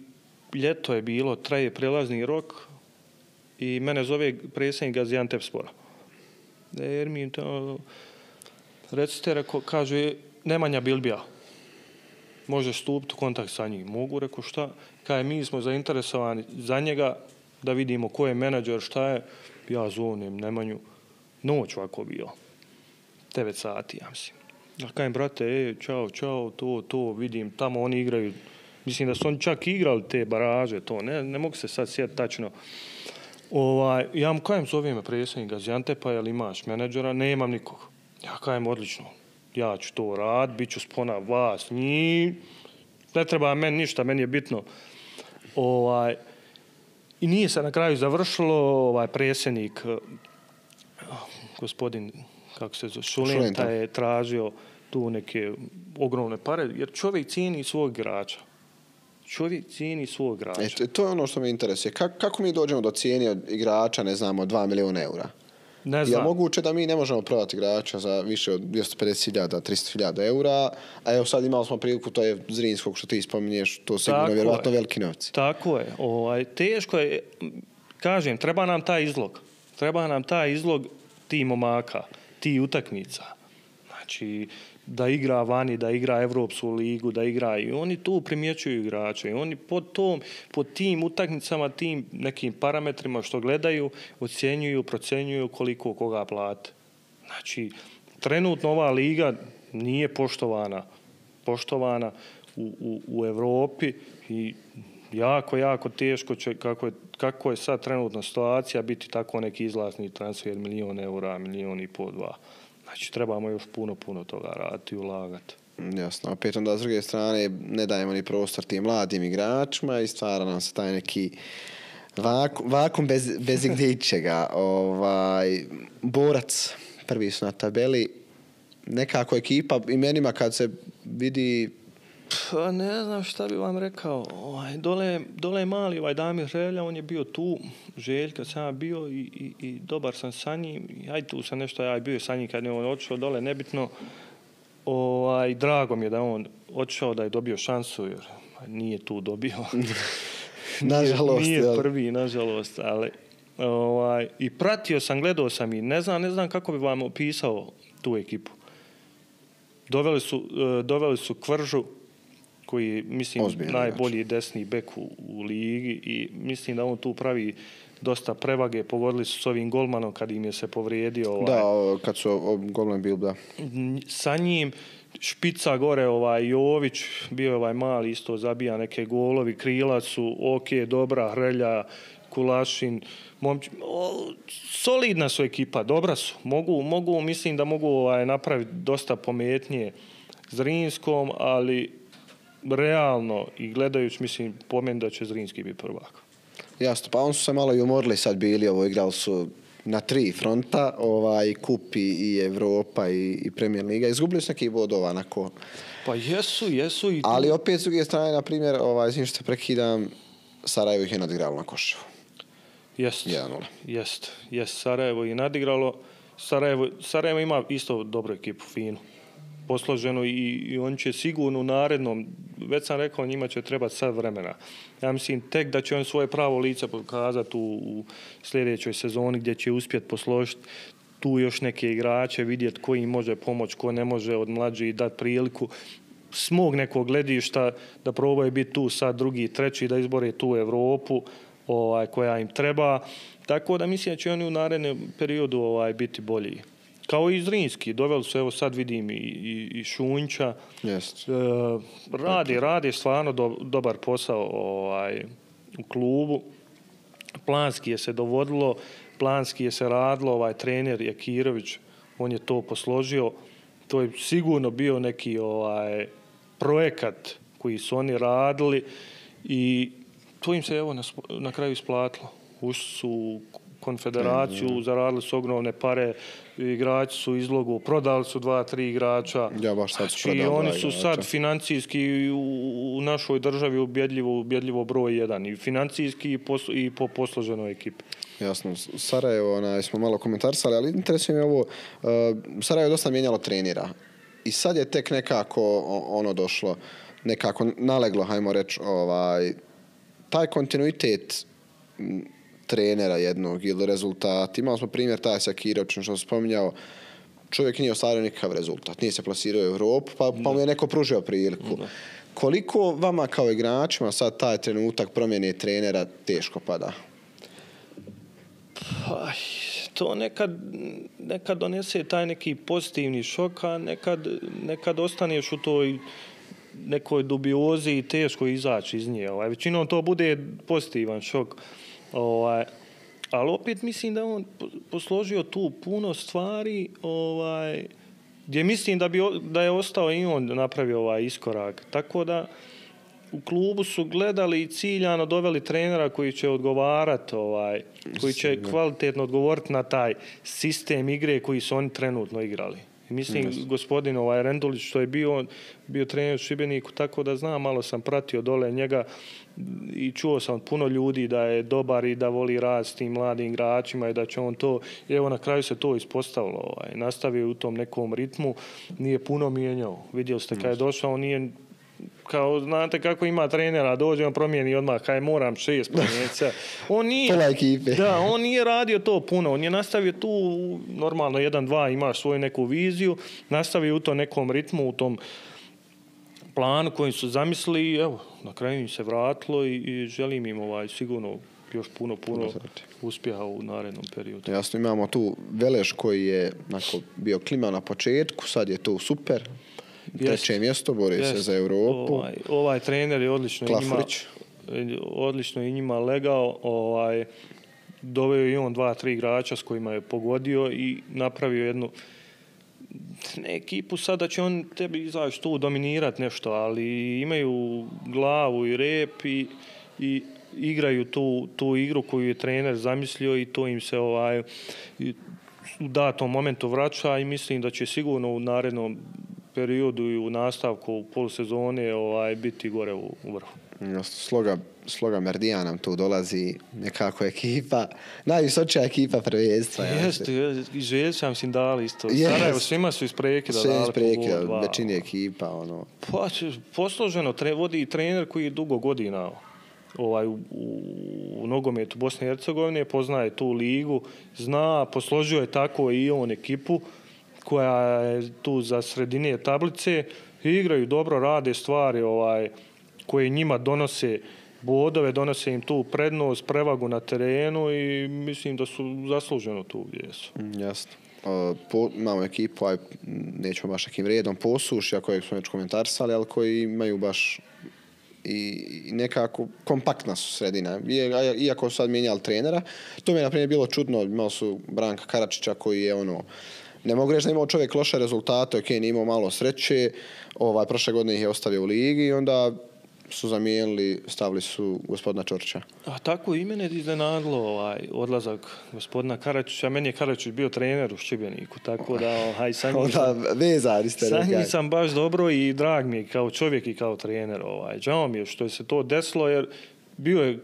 ljeto je bilo, traje prelazni rok i mene zove predsjednik Gaziantepspora. Ermin, recite, kaže, Nemanja Bilbija. Može stupiti u kontakt sa njim. Mogu, rekao, šta? Kaže, mi smo zainteresovani za njega da vidimo ko je menadžer, šta je. Ja zovem Nemanju. Noć ovako bio. 9 sati, ja mislim. Ja kažem, brate, čao, to, vidim, tamo oni igraju. Mislim da su oni čak igrali te baraže, to, ne mogu se sad sjetiti tačno. Ja mu kažem, zove me predsjednik Gaziantepa, jel imaš menadžera? Nemam nikog. Ja kažem, odlično, ja ću to raditi, bit ću spona vas, njih, ne treba meni ništa, meni je bitno. I nije se na kraju završilo, predsjednik, gospodin, kako se zove, Šulenta je tražio tu neke ogromne pare, jer čovjek cijeni svog igrača. To je ono što me interesuje. Kako mi dođemo do cijene od igrača, ne znamo, 2 milijuna eura? Ne znam. Je moguće da mi ne možemo prodati igrača za više od 250.000, 300.000 eura, a evo sad imali smo priliku, to je Zrinskog što ti spominješ, to sigurno vjerovatno veliki novci. Tako je. Teško je, kažem, treba nam taj izlog tih momaka, tih utakmica. Znači, da igra vani, da igra Evropsku ligu, da igra i oni tu primjećuju igrače i oni po tim utakmicama, tim nekim parametrima što gledaju, ocjenjuju, procenjuju koliko koga plate. Znači, trenutno ova liga nije poštovana u Evropi i jako teško će, kako je sad trenutna situacija, biti tako neki izlasni transfer 1 milion eura, 1,5 miliona, 2. Znači, trebamo još puno toga raditi i ulagati. Jasno. Opet onda, s druge strane, ne dajemo ni prostor tim mladim igračima i stvara nam se taj neki vakum bez gdje ičega. Borac, prvi su na tabeli. Nekako ekipa imenima kad se vidi... Pa ne znam šta bi vam rekao. Dole je mali Damir Želja, on je bio tu, Željka sam ja bio i dobar sam sa njim. Ajde tu sam nešto, ja bio sa njim kad je on otišao dole, nebitno. Drago mi je da on otišao, da je dobio šansu, jer nije tu dobio. Nažalost. Nije prvi, nažalost, ali... I pratio sam, gledao sam i ne znam kako bi vam opisao tu ekipu. Doveli su Kvržu, koji je, mislim, najbolji desni bek u ligi i mislim da on tu pravi dosta prevage. Pogodili su s ovim golmanom kad im je se povrijedio. Da, kad su golman bil, da. Sa njim špica gore, Jović, bio je mali, isto zabija neke golovi, krila su, dobra, Hrelja, Kulašin, solidna su ekipa, dobra su. Mislim da mogu napraviti dosta pametnije Zrinskom, ali realno i gledajući, mislim, po meni da će Zrinski biti prvak. Jasno, pa on su se malo i umorili sad bili, igrali su na 3 fronta, kup i Evropa i Premier Liga. Izgubili su neki bodova onako. Pa jesu i... Ali opet s druge strane, na primjer, izvim što se prekidam, Sarajevo ih je nadigralo na Koševu. Jest. 1:0. Jest, Sarajevo je nadigralo. Sarajevo ima isto dobru ekipu, finu. Posloženo i on će sigurno u narednom, već sam rekao, njima će trebati sad vremena. Ja mislim tek da će on svoje pravo lice pokazati u sljedećoj sezoni gdje će uspjeti posložiti tu još neke igrače, vidjeti ko im može pomoći, ko ne može od mlađih dati priliku s mog nekog gledišta da probaju biti tu sad drugi, treći, da izbore tu Evropu koja im treba. Tako da mislim da će oni u narednom periodu biti bolji. Kao i Zrinski, doveli su, evo sad vidim i Šunjća. Rade stvarno dobar posao u klubu. Planski je se dovodilo, planski je se radilo, trener Jakirović, on je to posložio. To je sigurno bio neki projekat koji su oni radili i to im se evo na kraju isplatilo. Ušli su u konfederaciju, zaradili su ogromne pare, igrači su izlogu, prodali su 2-3 igrača. Ja baš sad znači, oni su sad financijski u našoj državi ubjedljivo broj 1. I financijski i po posloženoj ekipi. Jasno. Sarajevo smo malo komentarsali, ali interesuje me ovo. Sarajevo je dosta mijenjalo trenera. I sad je tek nekako došlo, nekako naleglo, hajmo reći, taj kontinuitet trenera jednog ili rezultat. Imali smo primjer Tajsa Kirovića, što sam spominjao, čovjek nije ostvario nikakav rezultat, nije se plasirao u Europu, pa mu je neko pružio priliku. Koliko vama kao igračima sad taj trenutak promjene trenera teško pada? To nekad donese taj neki pozitivni šok, a nekad ostaneš u toj nekoj dubiozi i teško izaći iz nje. Većinom to bude pozitivan šok. Ali opet mislim da on posložio tu puno stvari gdje mislim da je ostao i on napravio iskorak. Tako da u klubu su gledali i ciljano doveli trenera koji će odgovarati, koji će kvalitetno odgovoriti na taj sistem igre koji su oni trenutno igrali. Mislim, gospodin Rendulić, što je bio trener u Šibeniku, tako da znam, malo sam pratio dole njega i čuo sam od puno ljudi da je dobar i da voli rad s tim mladim igračima i da će on to, i evo na kraju se to ispostavilo. Nastavio u tom nekom ritmu, nije puno mijenjao. Vidjeli ste kad je došao, nije kao, znate kako ima trenera, dođe on promijeni odmah, kaj moram 6 promijenica. On nije radio to puno, on je nastavio tu normalno 1-2, imaš svoju neku viziju, nastavio u tom nekom ritmu, u tom planu koji su zamislili i evo, na kraju im se vratilo i želim im sigurno još puno uspjeha u narednom periodu. Jasno, imamo tu Veleš koji je bio klima na početku, sad je to super. 3. mjesto, bori se za Europu. Ovaj trener je odlično i njima legao. Doveo i on 2-3 igrača s kojima je pogodio i napravio jednu ekipu. Sada će on tebi izaći tu dominirati nešto, ali imaju glavu i rep i igraju tu igru koju je trener zamislio i to im se u datom momentu vraća i mislim da će sigurno u narednom periodu i u nastavku polusezone biti gore u vrhu. Sloga Merdija nam tu dolazi nekako ekipa, najvisočija ekipa prvenstva. Jeste, i Željća mislim dali isto. Sarajevo svima su iz prekida dali po gol. Većini ekipa. Pa, posloženo vodi trener koji je dugo godina u nogometu Bosne i Hercegovine, poznaje tu ligu, zna, posložio je tako i on ekipu koja je tu za sredine tablice i igraju dobro, rade stvari koje njima donose bodove, donose im tu prednost, prevagu na terenu i mislim da su zasluženo tu gdje su. Jasno. Imamo ekipu, nećemo baš nekim redom, Posušja kojeg smo već komentarsali, ali koji imaju baš i nekako kompaktna su sredina. Iako su sad mijenjali trenera, to mi je na primjer bilo čudno, imali su Branka Karačića koji je ne mogu reći da imao čovjek loše rezultate, nije imao malo sreće, prošle godine ih je ostavio u ligi i onda su zamijenili, stavili su gospodina Čorića. A tako i mene iznenadilo odlazak gospodina Karačića. Meni je Karačić bio trener u Šibeniku, tako da sa njim sam baš dobro i drag mi je kao čovjek i kao trener. Žao mi je što je se to desilo, jer bio je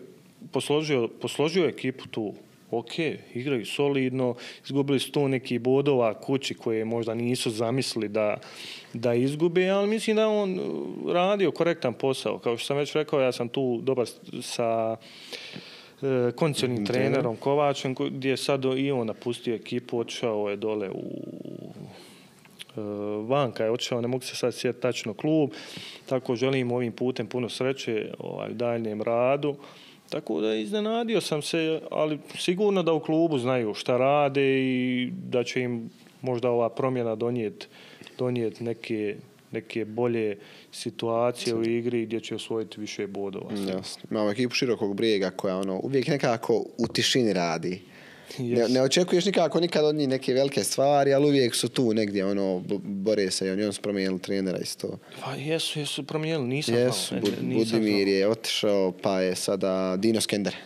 posložio ekipu tu. Ok, igraju solidno, izgubili su tu neki bodova kući koje možda nisu zamislili da izgube, ali mislim da on radio korektan posao. Kao što sam već rekao, ja sam tu dobar sa kondicionim trenerom Kovačem, gdje je sad i on napustio ekipu, otišao je dole vanka je otišao, ne mogu se sad sjetiti tačno klub, tako želim ovim putem puno sreće u daljnjem radu. Tako da iznenadio sam se, ali sigurno da u klubu znaju šta rade i da će im možda ova promjena donijeti neke bolje situacije u igri gdje će osvojiti više bodova. Jasno. Imamo ekipu Širokog Brijega koja uvijek nekako u tišini radi. Ne očekuješ nikad od njih neke velike stvari, ali uvijek su tu negdje, bore se i oni su promijenili trenera isto. Pa jesu promijenili, nisam znao. Budimir je otišao, pa je sada Dino Skender.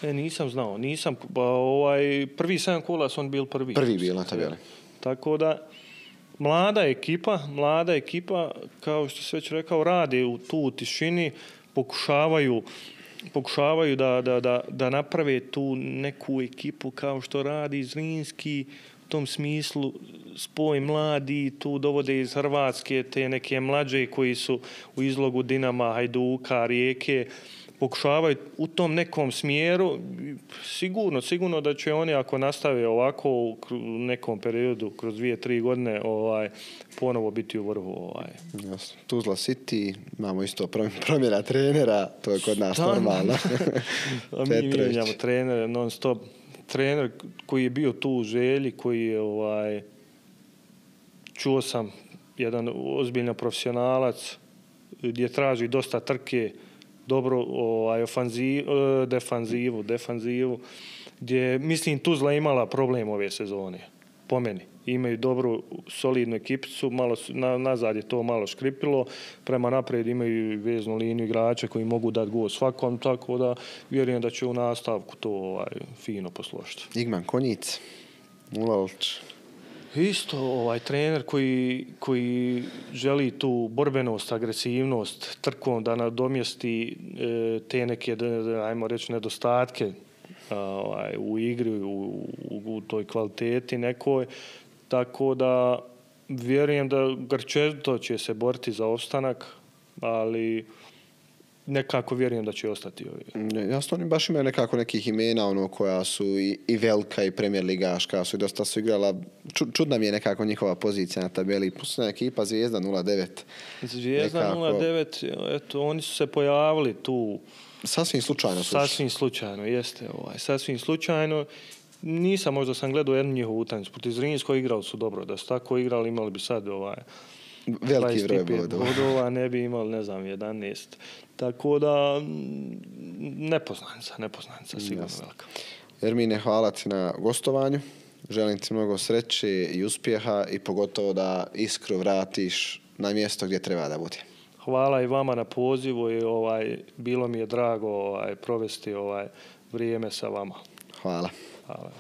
Nisam znao, prvi 7 kola su on bil prvi. Prvi bil na tabeli. Tako da, mlada ekipa, kao što se već rekao, rade tu u tišini, pokušavaju da naprave tu neku ekipu kao što radi Zrinski, u tom smislu spoj mladi, tu dovode iz Hrvatske te neke mlađe koji su u izlogu Dinama, Hajduka, Rijeke, pokušavaju u tom nekom smjeru. Sigurno da će oni, ako nastave ovako u nekom periodu, kroz 2-3 godine, ponovo biti u vrhu. Jasno. Tuzla City, imamo isto promjena trenera, to je kod nas normalno. Mi mijenjamo trenere non stop. Trener koji je bio tu u Želji, koji je, čuo sam, jedan ozbiljan profesionalac, gdje traži dosta trke, dobro defanzivu, gdje, mislim, Tuzla imala problem ove sezone, po meni. Imaju dobru, solidnu ekipicu, nazad je to malo škripilo, prema naprijed imaju veznu liniju igrača koji mogu dati gol svakom, tako da vjerujem da će u nastavku to fino posložiti. Igman Konjic, Ulalić. Isto trener koji želi tu borbenost, agresivnost, trkom da nadomjesti te neke, ajmo reći, nedostatke u igri, u toj kvaliteti nekoj. Tako da vjerujem da grčevito će se boriti za opstanak, ali nekako vjerujem da će ostati ovi. Jasno, oni baš imaju nekako nekih imena koja su i velika i premijer ligaška, su i dosta su igrala. Čudna mi je nekako njihova pozicija na tabeli. Pusna ekipa Zvijezda 0-9. Zvijezda 0-9, eto, oni su se pojavili tu. Sasvim slučajno. Sasvim slučajno, jeste. Sasvim slučajno. Sam gledao jednu njihovu utakmicu. Protiv Zrinskog igrali su dobro. Da su tako igrali, imali bi sad veliki broj bodova, ne bi imali, 11. Tako da, nepoznanica, sigurno velika. Ermine, hvala ti na gostovanju. Želim ti mnogo sreće i uspjeha i pogotovo da Iskru vratiš na mjesto gdje treba da bude. Hvala i vama na pozivu i bilo mi je drago provesti vrijeme sa vama. Hvala. Hvala.